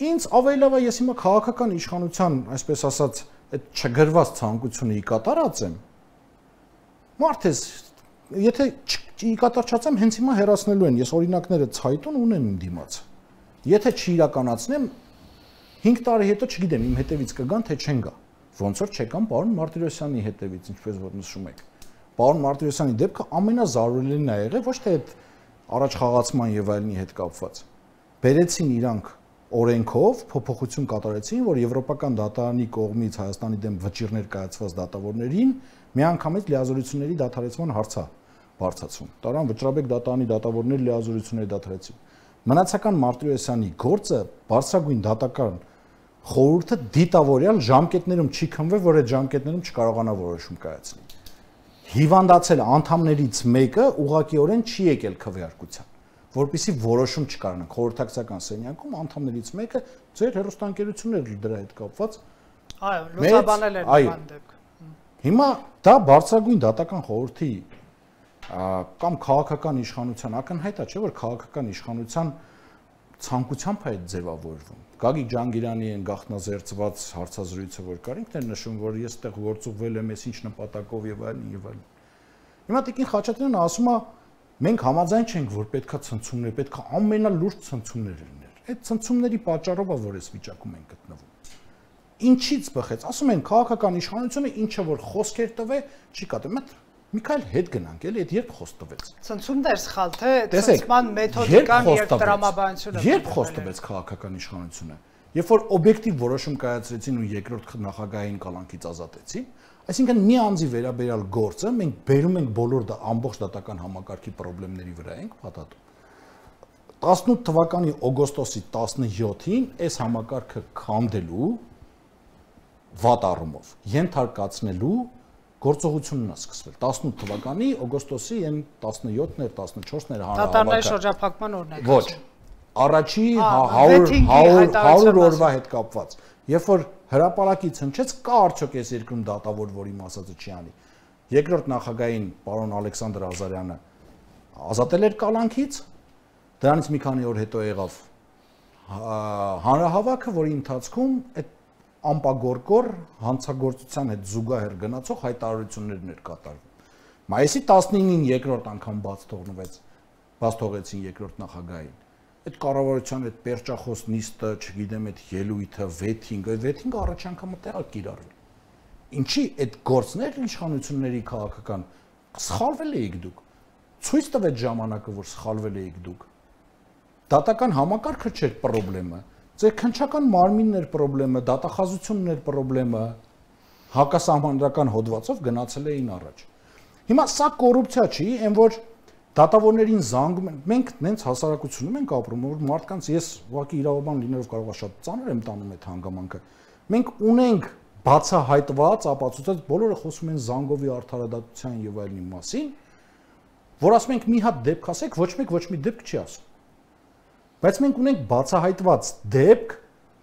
Ինձ ավելի լավ է ես հիմա քաղաքական իշխանության, այսպես ասած, այդ չգրված ցանկությունը կատարած եմ։ Մարդես, եթե կատարչացեմ, հենց հիմա հեռացնելու են, ես օրինակները ցայտուն ունեմ իմ դիմաց։ Եթե չիրականացնեմ 5 տարի հետո չգիտեմ իմ հետևից կգան թե չեն գա։ Ոնց որ չեկան պարոն Մարտիրոսյանի հետևից, ինչպես որ նշում եք։ Պարոն Մարտիրոսյանի դեպքը ամենազարուլելին է եղել, ոչ թե այդ առաջխաղացման եւ այլնի հետ կապված։ Բերեցին իրանք օրենքով փոփոխություն կատարեցին, որ եվրոպական դատարանի կողմից Հայաստանի դեմ վճիռներ կայացված դատավորներին միանգամից լիազորությունների դադարեցման հարցը բարձրացում։ Տարան Վճռաբեկ դատարանի դատավորներ լիազորությունների դադարեցին։ Մնացական Մարտիրոսյանի գործը բարձրագույն դատական խորհուրդը դիտավորյալ ժամկետներում չի քնվել, որ այդ ժամկետներում չկարողանա որոշում կայացնի։ Հիվանդացել անդամներից մեկը ուղղակիորեն չի եկել քվեարկության, որպեսզի որոշում չկարանանք խորհրդակցական սենյակում անդամներից մեկը ձեր հեռուստաընկերություններ դրա հետ կապված այո լուսաբանել են նման դեպք։ Հիմա դա բարձրագույն դատական խորհրդի կամ քաղաքական իշխանության ակնհայտ է, չէ՞ որ քաղաքական իշխանության ցանկությամբ է այդ ձևավորվում։ Գագիկ Ջանգիրյանի են գաղտնազերծված հարցազրույցը որ կար, ինքն է նշում, որ ես այդտեղ գործուղվել եմ, ես ինչ նպատակով եւ այլն եւ այլն։ Հիմա Տիկին Խաչատրյանը ասում է, մենք համաձայն չենք, որ պետքա ցնցումներ, պետքա ամենալուրջ ցնցումներ լիներ։ Այդ ցնցումների պատճառով է, որ այս վիճակում ենք գտնվում։ Ինչից բխեց։ Ասում են քաղաքական իշխանությունը ինչը որ խոսքեր տվե, չի կատարում։ Միքայել հետ գնանք, էլի, այդ երբ խոսք տվեց։ Ցնցումներ սխալ թե ցնցման մեթոդիկան եւ տրամաբանությունը։ Երբ խոսք տվեց քաղաքական իշխանությունը, երբ որ օբյեկտիվ որոշում կայացրեցին ու երկրորդ նախագահային կալանքից ազատեցին, այսինքն մի անձի վերաբերյալ գործը մենք բերում ենք բոլոր ամբողջ դատական համակարգի խնդիրների վրա ենք փաթաթում։ 18 թվականի օգոստոսի 17-ին այս համակարգը քանդելու վատ առումով ենթարկացնելու գործողությունն է սկսվել 18 թվականի օգոստոսի այն 17-ներ, 14-ներ հանրահավաքը։ Դատարանների շրջափակման օրն է։ Ոչ։ Առաջի 100 օրվա հետ կապված։ Երբ որ հրապարակից հնչեց, կա արդյոք այս երկրում դատավոր, որ իմ ասածը չի անի։ Երկրորդ նախագահային պարոն Ալեքսանդր Ազարյանը ազատել էր կալանքից, դրանից մի քանի օր հետո եղավ հանրահավաքը, որի ընթացքում այդ ամպագորկոր հանցագործության հետ զուգահեռ գնացող հայտարարություններն էր կատարվում։ Մայիսի 19-ին երկրորդ անգամ բաց թողեցին երկրորդ նախագահային։ Այդ կառավարության այդ պերճախոս նիստը, չգիտեմ, այդ ելույթը, վեթինգը առաջ անգամը տեղա կիրառվել։ Ինչի այդ գործներ իշխանությունների քաղաքական սխալվել էիք դուք։ Ցույց տվեց ժամանակը, որ սխալվել էիք դուք։ Դատական համակարգը չէր խնդրեմը։ Ձեր քննչական մարմինն էր խնդրեմը, դատախազությունն էր խնդրեմը, հակասահմանադրական հոդվածով գնացել էին առաջ։ Հիմա սա կոռուպցիա չի, այն որ դատավորներին զանգում են, մենք նենց հասարակությունում ենք ապրում, որ մարդկանց ես ուղղակի իրավաբան լինելով կարող է շատ ծանր եմ տանում այդ հանգամանքը։ Մենք ունենք բացահայտված, ապացուցած բոլորը խոսում են զանգովի արդարադատության եւ այլնի մասին, որ ասում ենք մի հատ դեպք ասեք, ոչ մի դեպք չի ասում։ Բայց մենք ունենք բացահայտված դեպք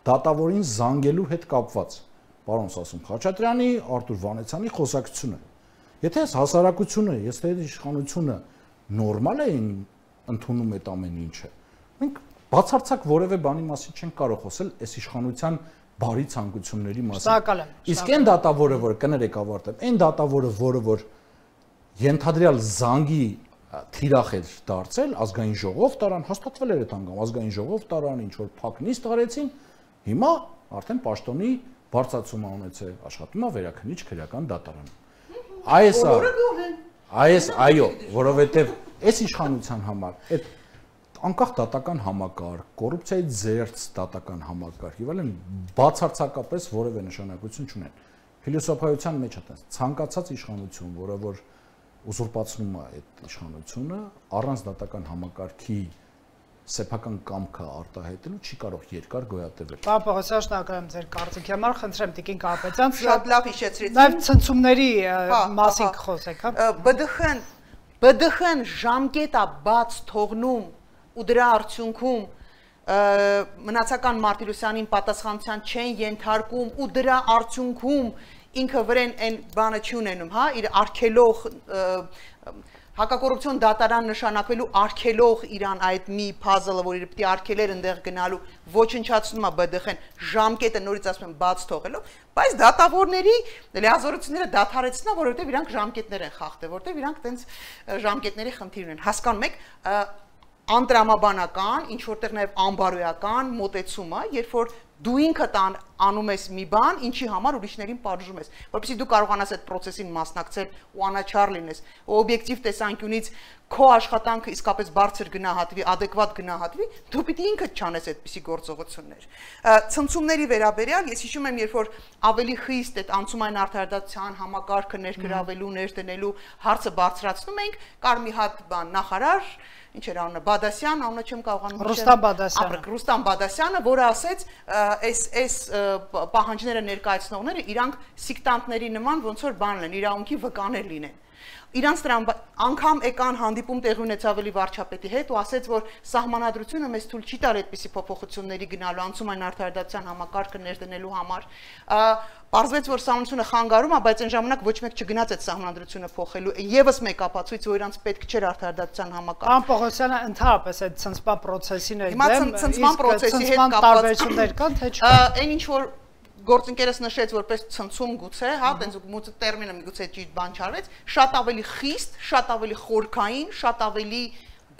դատավորին զանգելու հետ կապված։ Պարոն Սասուն Խաչատրյանի, Արտուր Վանեցյանի խոսակցությունը։ Եթե այս հասարակությունը, եթե իշխանությունը նորմալ է ընդունում այդ ամեն ինչը, մենք բացարձակ որևէ բանի մասին չենք կարող խոսել այս իշխանության բարի ցանկությունների մասին։ Իսկ այն դատավորը, որ կներեք ավարտեմ, այն դատավորը, որ ենթադրյալ զանգի թիրախ էր դարձել, ազգային ժողով տարան, հաստատվել էր այդ անգամ, ազգային ժողով տարան, ինչ որ փակնից տարեցին, հիմա արդեն պաշտոնի բարձրացում ունեցել, աշխատում է վերաքննիչ քրեական դատարանում։ Այո, որովհետև այս իշխանության համար այդ անկախ դատական համակարգ, կոռուպցիայի զերծ դատական համակարգ, եւ այլն բացարձակապես որևէ նշանակություն չունեն։ Փիլիսոփայության մեջ է ցանկացած իշխանություն, որը որ ուզուրպացնում է այդ իշխանությունը, առանց դատական համակարգի սեփական կամքը արտահայտելու չի կարող երկար գոյատևել։ Պարոն Պողոսյան, շնորհակալ եմ ձեր կարծիքի համար, խնդրեմ Տիկին Կարապետյան, շատ լավ հիշեցրեցիք։ Նաև ցնցումների մասին խոսեք, հա։ ԲԴԽ-ն ժամկետա բաց թողնում ու դրա արդյունքում մնացական Մարտիրոսյանին պատասխանության չեն ենթարկում ու դրա արդյունքում ինքը վրեն այն բանը չի ունենում, հա, իր արգելող հակակոռուպցիոն դատարան նշանակվելու արգելող իրան այդ մի puzzle-ը, որ իր պիտի արգելեր ընդեղ գնալու, ոչնչացնում է ԲԴԽ-ն ժամկետը նորից ասում են բաց թողելով, բայց դատավորների լիազորությունները դադարեցնա, որովհետև իրանք ժամկետներ են խախտել, որովհետև իրանք տենց ժամկետների խնդիր ունեն։ Հասկանում եք, անտրամաբանական, ինչ որտեղ նաև անբարոյական մոտեցումը, երբ որ դու ինքդ անում ես մի բան, ինչի համար ուրիշներին պատժում ես, որովհետեւ դու կարողանաս այդ process-ին մասնակցել ու անաչառ լինես, օբյեկտիվ տեսանկյունից քո աշխատանքը իսկապես բարձր գնահատվի, adekvat գնահատվի, դու պիտի ինքդ չանես այդպիսի գործողություններ։ Ցնցումների վերաբերյալ ես հիշում եմ, երբ որ ավելի խիստ այդ անցումային արդարադատության համակարգը ներգրավելու, ներդնելու հարցը բարձրացնում ենք, կար մի հատ բան նախարար ինչ էր անունը Բադասյան, անունը չեմ կարողանում Ռուստամ Բադասյանը, որը ասեց, այս պահանջները ներկայացնողները իրանք սիկտանտների նման ոնց որ բան են, իրավունքի վկաներ լինեն։ Իրանց դրան անգամ եկան հանդիպում տեղի ունեցավ ավելի վարչապետի հետ ու ասեց, որ սահմանադրությունը մեզ թույլ չի տար այդպիսի փոփոխությունների գնալու, անցումային արդարադատության համակարգը ներդնելու համար։ Պարզվեց, որ սահմանությունը խանգարում է, բայց այն ժամանակ ոչ մեկ չգնաց այդ սահմանադրությունը փոխելու։ Եվս մեկ ապացույց, որ իրանց պետք չէր արդարադատության համակարգ։ Պարոն Պողոսյանը ընդհանրապես այդ ցնցման process-ին է դեմ, ցնցման process-ի հետ կապված տարբերություններ կան, թե չկան։ Այն ինչ որ գործընկերս նշեց որպես ցնցում գուցե, հա, տենց մուծը տերմինը միգուցե ճիշտ բան չարվեց, շատ ավելի խիստ, շատ ավելի խորքային, շատ ավելի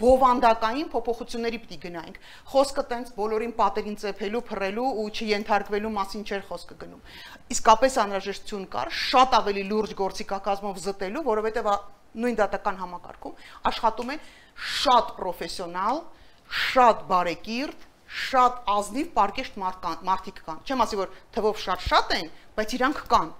բովանդակային փոփոխությունների պիտի գնայինք։ Խոսքը տենց բոլորին պատերին ծեփելու, փռելու ու չենթարկվելու մասին չէր խոսքը գնում։ Իսկապես անհրաժեշտություն կար շատ ավելի լուրջ գործիքակազմով զտելու, որովհետև նույն դատական համակարգում աշխատում են շատ պրոֆեսիոնալ, շատ բարեկիրթ, շատ ազնիվ պարկեշտ մարդիկ կան։ Չեմ ասի, որ թվով շատ են, բայց իրանք կան։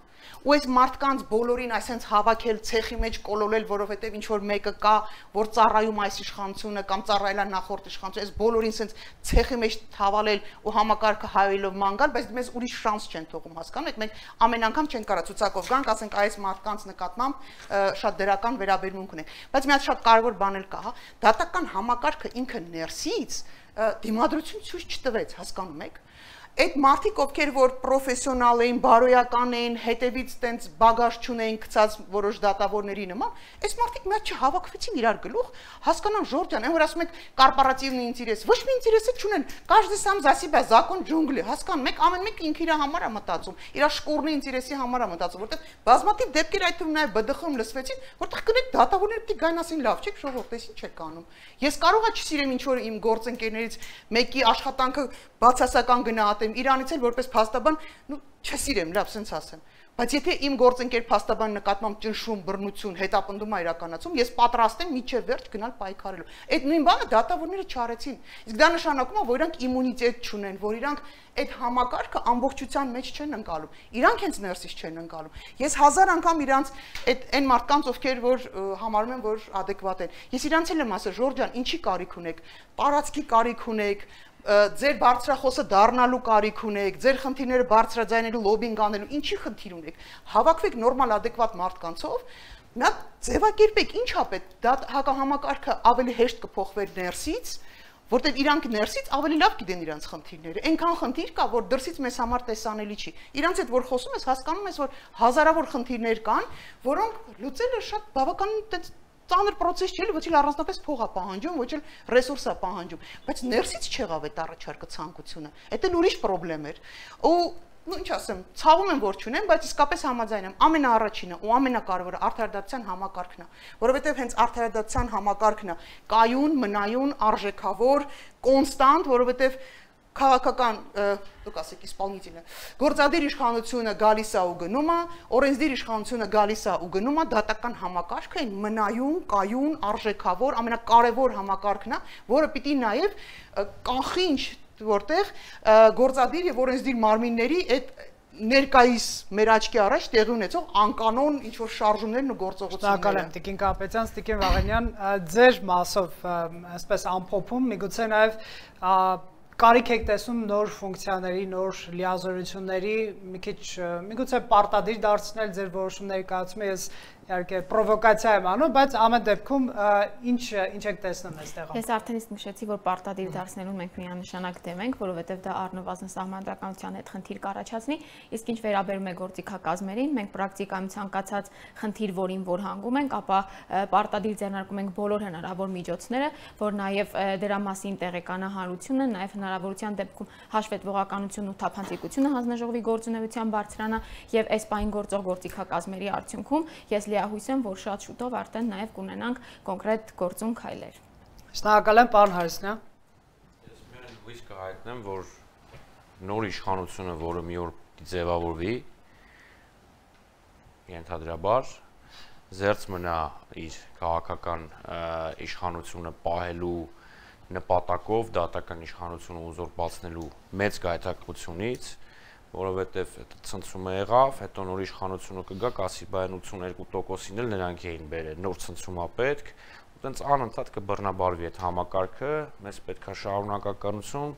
Ու այս մարդկանց բոլորին այսենց հավաքել ցեխի մեջ կոլոլել, որովհետև ինչ որ մեկը կա, որ ծառայում այս իշխանությունը կամ ծառայել է նախորդ իշխանությունը, այս բոլորին այսենց ցեխի մեջ թավալել ու համակարգը հայելով ման գալ, բայց մեզ ուրիշ շանս չեն թողում, հասկանում եք, մենք ամեն անգամ չենք կարա ցուցակով գանք, ասենք այս մարդկանց նկատմամբ շատ դրական վերաբերմունք ունենք։ Բայց մի հատ շատ կարևոր բան էլ կա, հա, դատական համակարգը ինքը ներսից դիմադրություն ցույց չտվեց, հասկանում եք։ Այդ մարդիկ, ովքեր որ պրոֆեսիոնալ էին, բարոյական էին, հետևից տենց բագաժ չունեին գցած որոշ դատավորների նման, այս մարդիկ մի հատ չհավաքվեցին իրար գլուխ, հասկանան Ժորժան, այն որ ասում եք կորպորատիվնի ինտերես, ոչ մի ինտերեսը չունեն, каждый сам за себя, закон джунгли, հասկանում եք, ամեն մեկը ինքը իր համար է մտածում, իր շկուրնի ինտերեսի համար է մտածում, որտեղ բազմաթիվ դեպքեր այդ թվում նաև ԲԴԽ-ում լսվեցին, որտեղ կնեք դատավորները պիտի գան ասին լավ, չեք ժողովուրդ, ես ինչ եք անում։ Ես կարող եմ չսիրեմ ինչ որ իմ գործընկերներից մեկի աշխատանքը բացասական գնահատեմ, իրանից էլ որպես փաստաբան, չսիրեմ, լավ, սենց ասեմ։ Բայց եթե իմ գործընկեր փաստաբան նկատմամբ ճնշում, բռնություն, հետապնդում է իրականացում, ես պատրաստ եմ միջև վերջ գնալ պայքարելու։ Այդ նույն բանը դատավորները չարեցին։ Իսկ դա նշանակում է, որ իրանք իմունիտետ չունեն, որ իրանք այդ համակարգը ամբողջության մեջ չեն ընկալում։ Իրանք հենց ներսից չեն ընկալում։ Ես 1000 անգամ իրանք այն մարդկանց, ովքեր որ համարում են, որ adekvat են։ Ես իրանք էլ եմ ասել, Ժորժան, ինչի կարիք ունեք։ Տարածքի կարիք ունեք, ձեր բարձրախոսը դառնալու կարիք ունեք, ձեր խնդիրները բարձրաձայնելու, լոբինգ անելու, ինչի խնդիր ունեք։ Հավաքվեք նորմալ adekvat մարդկանցով, նա ձևակերպեք ինչա պետք, դա հակահամակարգը ավելի հեշտ կփոխվեր ներսից, որտեղ իրանք ներսից ավելի լավ գիտեն իրանք խնդիրները։ Այնքան խնդիր կա, որ դրսից մեզ համար տեսանելի չի։ Իրանք հետ որ խոսում ես, հասկանում ես, որ հազարավոր խնդիրներ կան, որոնք լուծելը շատ բավական ծանր process չէ, ոչ էլ առանձնապես փող է պահանջում, ոչ էլ ռեսուրս է պահանջում, բայց ներսից չեղավ այդ առաջարկը ցանկությունը։ Դա էլ ուրիշ խնդրեմ էր։ Ու ինչ ասեմ, ցավում եմ որ չունեմ, բայց իսկապես համաձայն եմ, ամենաառաջինը ու ամենակարևորը արդարադատության համակարգն է, որովհետև հենց արդարադատության համակարգն է կայուն, մնայուն, արժեքավոր, կոնստանտ, որովհետև քաղաքական, դուք ասեք իսպալնիտելը, գործադիր իշխանությունը գալիս է ու գնում է, օրենսդիր իշխանությունը գալիս է ու գնում է, դատական համակարգը այն մնայուն, կայուն, արժեքավոր, ամենակարևոր համակարգն է, որը պիտի նաև կանխի ինչ որտեղ գործադիր եւ օրենսդիր մարմինների այդ ներկայիս մեր աչքի առաջ տեղի ունեցող անկանոն ինչ որ շարժումներն ու գործողությունները։ Շնորհակալ եմ Տիկին Կապետյան, Տիկին Վաղենյան, ձեր մասով այսպես ամփոփում, միգուցե նաև կարիք եք տեսնում նոր ֆունկցիաների, նոր լիազորությունների, մի քիչ միգուցե պարտադիր դարձնել ձեր որոշումների կայացումը, ես իհարկե պրովոկացիա եմ անում, բայց ամեն դեպքում ինչ եք տեսնում այստեղ։ Ես արդեն իսկ նշեցի, որ պարտադիր դարձնելուն մենք միանշանակ դեմ ենք, որովհետև դա առնվազն սահմանադրականության հետ խնդիր կառաջացնի, իսկ ինչ վերաբերում է գործիքակազմերին, մենք պրակտիկայում ցանկացած խնդիր, որին որ հանգում ենք, ապա պարտադիր ձեռնարկում ենք բոլոր հնարավոր միջոցները, որ նաև դրա մասին տեղեկանահարությունը, նաև հնարավորության դեպքում հաշվետվողականությունն ու թափանցիկությունը հանձնաժողովի գործունեության բարձրանա եւ այս պահին գործող գործիքակազմերի արդյունքում ես լիահույս եմ, որ շատ շուտով արդեն նաև կունենանք կոնկրետ գործուն քայլեր։ Շնորհակալ եմ, պարոն Հարությունյան։ Ես միայն հույս կհայտնեմ, որ նոր իշխանությունը, որը մի օր ձևավորվի, ենթադրաբար զերծ մնա իր քաղաքական իշխանությունը պահելու նպատակով դատական իշխանությունը ուզուրպացնելու մեծ գայթակղությունից, որովհետև ցնցումը եղավ, հետո նոր իշխանությունը կգա, կասի բան 82%-ին էլ նրանք էին բերել, նոր ցնցում է պետք, ու տենց անընդհատ կբռնաբարվի այդ համակարգը, մեզ պետք է շարունակականություն,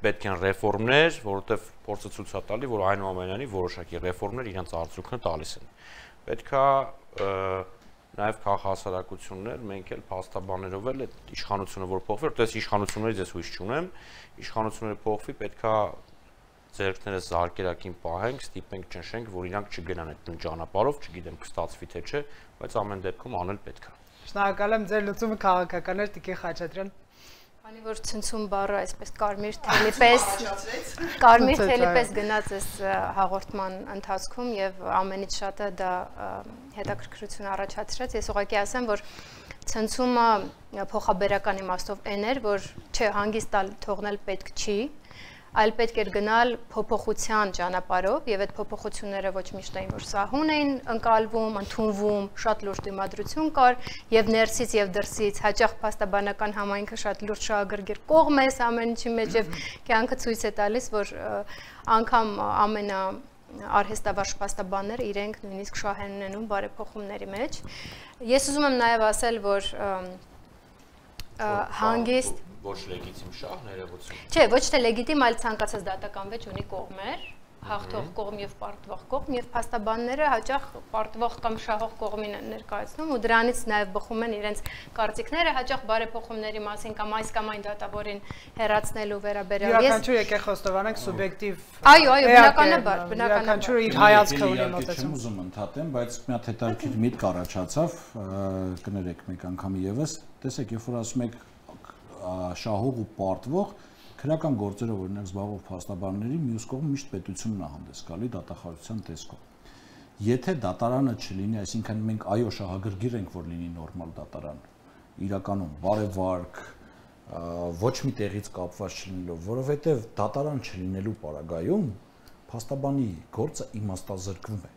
պետք են ռեֆորմներ, որովհետև փորձը ցույց է տալի, որ այնուամենայնիվ որոշակի ռեֆորմներ իրենց արդյունքը տալիս են։ Պետք է նաև քաղաքահասարակություններ, մենք էլ փաստաբաներով էլ այդ իշխանությունը որ փոխվի, որտես իշխանություններից ես հույս չունեմ, իշխանությունները փոխվի, պետքա ձեռքներս զարկերակին պահենք, ստիպենք, ճնշենք, որ իրանք չգնան այդ ճանապարհով, չգիտեմ կստացվի թե չէ, բայց ամեն դեպքում անել պետք է։ Շնորհակալ եմ, ձեր լուծումը քաղաքական էր, Տիկին Խաչատրյան։ Քանի որ ցնցում բառը այսպես կարմիր թելի պես գնաց այս հաղորդման ընթացքում եւ ամենից շատը դա հետաքրքրություն առաջացրեց, ես ուղղակի ասեմ, որ ցնցումը փոխաբերական իմաստով այն էր, որ չէ, հանգիստ թողնել պետք չի, այլ պետք էր գնալ փոփոխության ճանապարհով եւ այդ փոփոխությունները ոչ միշտ էին որ սահուն էին ընկալվում, ընդունվում, շատ լուրջ դիմադրություն կար եւ ներսից եւ դրսից հաճախ փաստաբանական համայնքը շատ լուրջ շահագրգիռ կողմ է ամեն ինչի մեջ եւ կյանքը ցույց է տալիս, որ անգամ ամենա արհեստավարժ փաստաբանները իրենք նույնիսկ շահ են ունենում բարեփոխումների մեջ։ Ես ուզում եմ նաեւ ասել, որ հանգիստ ոչ լեգիտիմ շահ ներողություն։ Չէ, ոչ թե լեգիտիմ, այլ ցանկացած դատական վեճ ունի կողմեր, հաղթող կողմ եւ պարտվող կողմ, եւ փաստաբանները հաճախ պարտվող կամ շահող կողմին են ներկայացնում ու դրանից նաեւ բխում են իրենց կարծիքները հաճախ բարեփոխումների մասին կամ այն դատավորին հերացնելու վերաբերյալ։ Յուրաքանչյուր եկեք խոստովանենք սուբյեկտիվ։ Այո, բնականաբար, յուրաքանչյուրը իր հայացքը ունի մոտեցում։ Չեմ ուզում ընդհատեմ, բայց մի հատ հետաքրքիր միտք առաջացավ, կներեք մեկ անգամ եւս, տեսեք, երբ որ ասում եք շահող ու պարտվող քրական գործերով օրինակ զբաղվող փաստաբանների մյուս կողմը միշտ պետությունն է հանդես գալի դատախազության տեսքով։ Եթե դատարանը չլինի, այսինքն մենք այո շահագրգիռ ենք, որ լինի նորմալ դատարան, իրականում բարեվարկ, ոչ մի տեղից կապված չլինելով, որովհետև դատարան չլինելու պարագայում փաստաբանի գործը իմաստազրկվում է։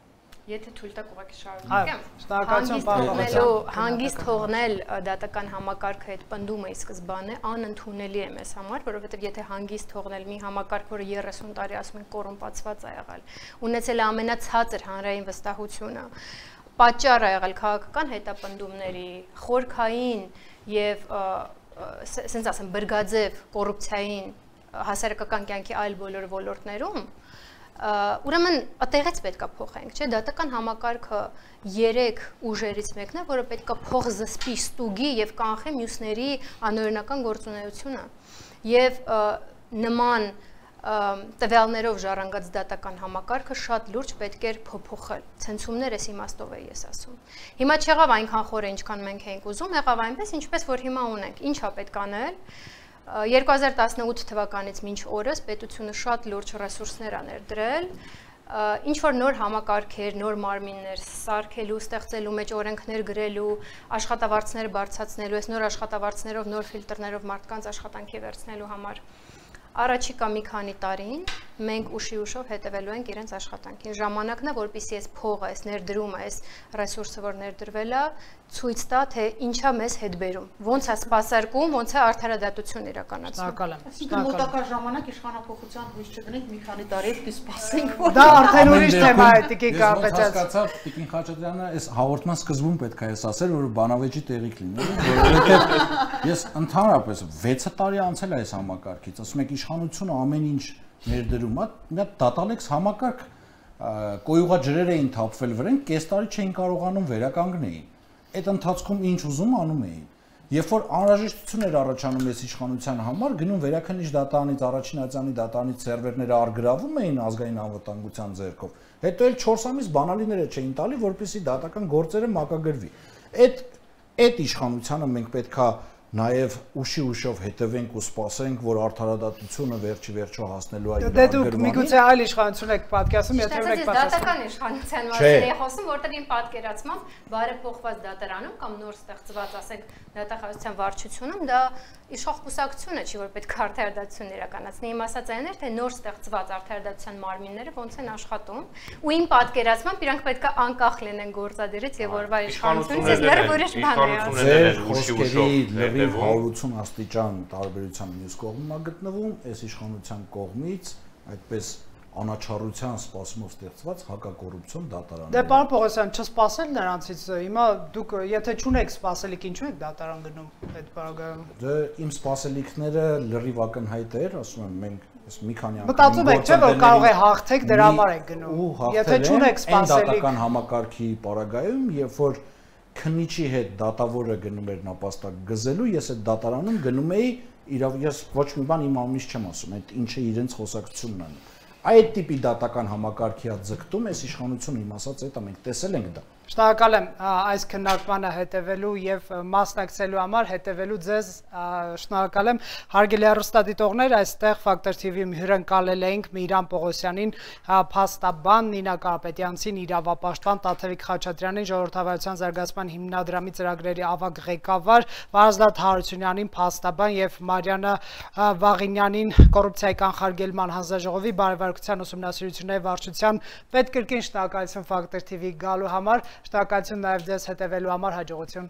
Եթե թույլ տաք ուղղակի շարունակեմ, շնորհակալություն պարոն հանգիստ թողնել դատական համակարգը այդ պնդումը ի սկզբանե անընդունելի է մեզ համար, որովհետև եթե հանգիստ թողնել մի համակարգ, որը 30 տարի ասում են կոռումպացված է եղել, ունեցել է ամենացածր հանրային վստահությունը, պատճառ է եղել քաղաքական հետապնդումների, խորքային եւ ասենց ասեմ բրգաձև կոռուպցիային հասարակական կյանքի այլ բոլոր ոլորտներում, Ուրեմն այդտեղից պետքա փոխենք, չէ՞, դատական համակարգը 3 ուժերից մեկն է, որը պետքա փոխզսպի, ստուգի եւ կանխի մյուսների անօրինական գործունեությունը։ Եվ նման տվյալներով ժառանգած դատական համակարգը շատ լուրջ պետք էր փոփոխել։ Ցենզումներ էս իմաստով է ես ասում։ Հիմա չեղավ այնքան խորը, ինչքան մենք էինք ուզում, եղավ այնպես, ինչպես որ հիմա ունենք։ Ինչա պետք անել։ 2018 թվականից մինչ օրս պետությունը շատ լուրջ ռեսուրսներ ա ներդրել, ինչ որ նոր համակարգեր, նոր մարմիններ սարքելու, ստեղծելու մեջ օրենքներ գրելու, աշխատավարձներ բարձրացնելու, այս նոր աշխատավարձներով, նոր ֆիլտրներով մարդկանց աշխատանքի վերցնելու համար։ Առաջիկա մի քանի տարին մենք ուշի ուշով հետևելու ենք իրենց աշխատանքին։ Ժամանակն է, որպեսզի այս փողը, այս ներդրումը, այս ռեսուրսը, որ ներդրվել է, ցույց տա, թե ինչա մեզ հետ բերում, ոնց է սպասարկում, ոնց է արդարադատություն իրականացնում։ Այսինքն մոտակա ժամանակ իշխանափոխության հույս չդնենք, մի քանի տարի պետք է սպասենք, որ դա արդեն ուրիշ թեմա է, Տիկին Կարապետյան։ Հասկացավ, Տիկին Խաչատրյանը այս հաղորդման սկզբում պետք է ասել, որ բանավեճի տեղիք լինի, որովհետև ես ընդհանրապես 6 տարի անցել է այս համակարգից, ասում եք իշխանությունը ամեն ինչ ներդրում է, մի հատ դատալեքս համակարգ կոյուղա ջրեր էին թափվել վրան, կես տարի չէին կարողանում վերականգնեին։ Այդ ընթացքում ինչ ուզում անում էին։ Երբ որ անհրաժեշտություն էր առաջանում այս իշխանության համար, գնում վերաքննիչ դատարանից, առաջին ատյանի դատարանից սերվերները արգրավում էին ազգային անվտանգության ձեռքով։ Հետո էլ 4 ամիս բանալիները չէին տալի, որպեսզի դատական գործերը մակագրվի։ Այդ իշխանությանը մենք պետքա նաև ուշի ուշով հետևենք ու սպասենք, որ արդարադատությունը վերջի վերջո հասնելու է իր Դե դուք միգուցե այլ իշխանություն եք պատկերացնում, եթե ուրեք պատասխան։ Դատական իշխանության մասին եմ խոսում, որտեղ իմ պատկերացմամբ բարեփոխված դատարանում կամ նոր ստեղծված, ասենք, դատախազության վարչությունում դա իշխող կուսակցությունը չի, որ պետք է արդարադատություն իրականացնի։ Իմ ասած այն էր, թե նոր ստեղծված արդարադատության մարմինները ոնց են աշխատում, ու իմ պատկերացմամբ իրանք պետք է անկախ լինեն գործադիրից եւ որվա իշխանությունից, լրիվ ուրիշ բան է ասում։ Ձեր խոսքերի լրիվ 180 աստիճան տարբերության մյուս կողմում է գտնվում, այս իշխանության կողմից այդպես անաչառության սպասումով ստեղծված հակակոռուպցիոն դատարաններ։ Դե պարոն Պողոսյան, չսպասել նրանցից, հիմա դուք եթե չունեք սպասելիք, ինչու եք դատարան գնում այդ բaragայում։ Դե իմ սպասելիքները լրիվ ակնհայտ էր, ասում եմ, մենք այս մի քանի անգամ մտածում եք, չէ՞ որ կարող է հաղթեք, դրա համար եք գնում։ Եթե չունեք սպասելիք դատական համակարգի բaragայում, երբ որ քննիչի հետ դատավորը գնում էր նապաստակ գզելու, ես այդ դատարանում գնում էի, ես ոչ մի բան իմ անունից չեմ ասում, այդ ինչը իրենց խոսակցությունն է։ Այդ տիպի դատական համակարգի հատ ձգտում էս իշխանությունը իմ ասած այդ մենք տեսել ենք դա։ Շնորհակալ եմ այս քննարկմանը հետևելու եւ մասնակցելու համար, հետևելու ձեզ շնորհակալ եմ։ Հարգելի հեռուստադիտողներ, այստեղ Factor TV-ում հյուրընկալել էինք Միրան Պողոսյանին, փաստաբան, Նինա Կարապետյանցին, իրավապաշտպան Տաթևիկ Խաչատրյանին, Ժողովրդավարության զարգացման հիմնադրամի ծրագրերի ավագ ղեկավար, Վարազդատ Հարությունյանին, փաստաբան եւ Մարիանա Վաղինյանին, կոռուպցիայի կանխարգելման հանձնաժողովի բարեվարկության ուսումնասիրությունների վարչության պետ կրկին շնորհակալություն Factor TV գալու համար։ Շնորհակալություն նաև ձեզ հետևելու համար, հաջողություն։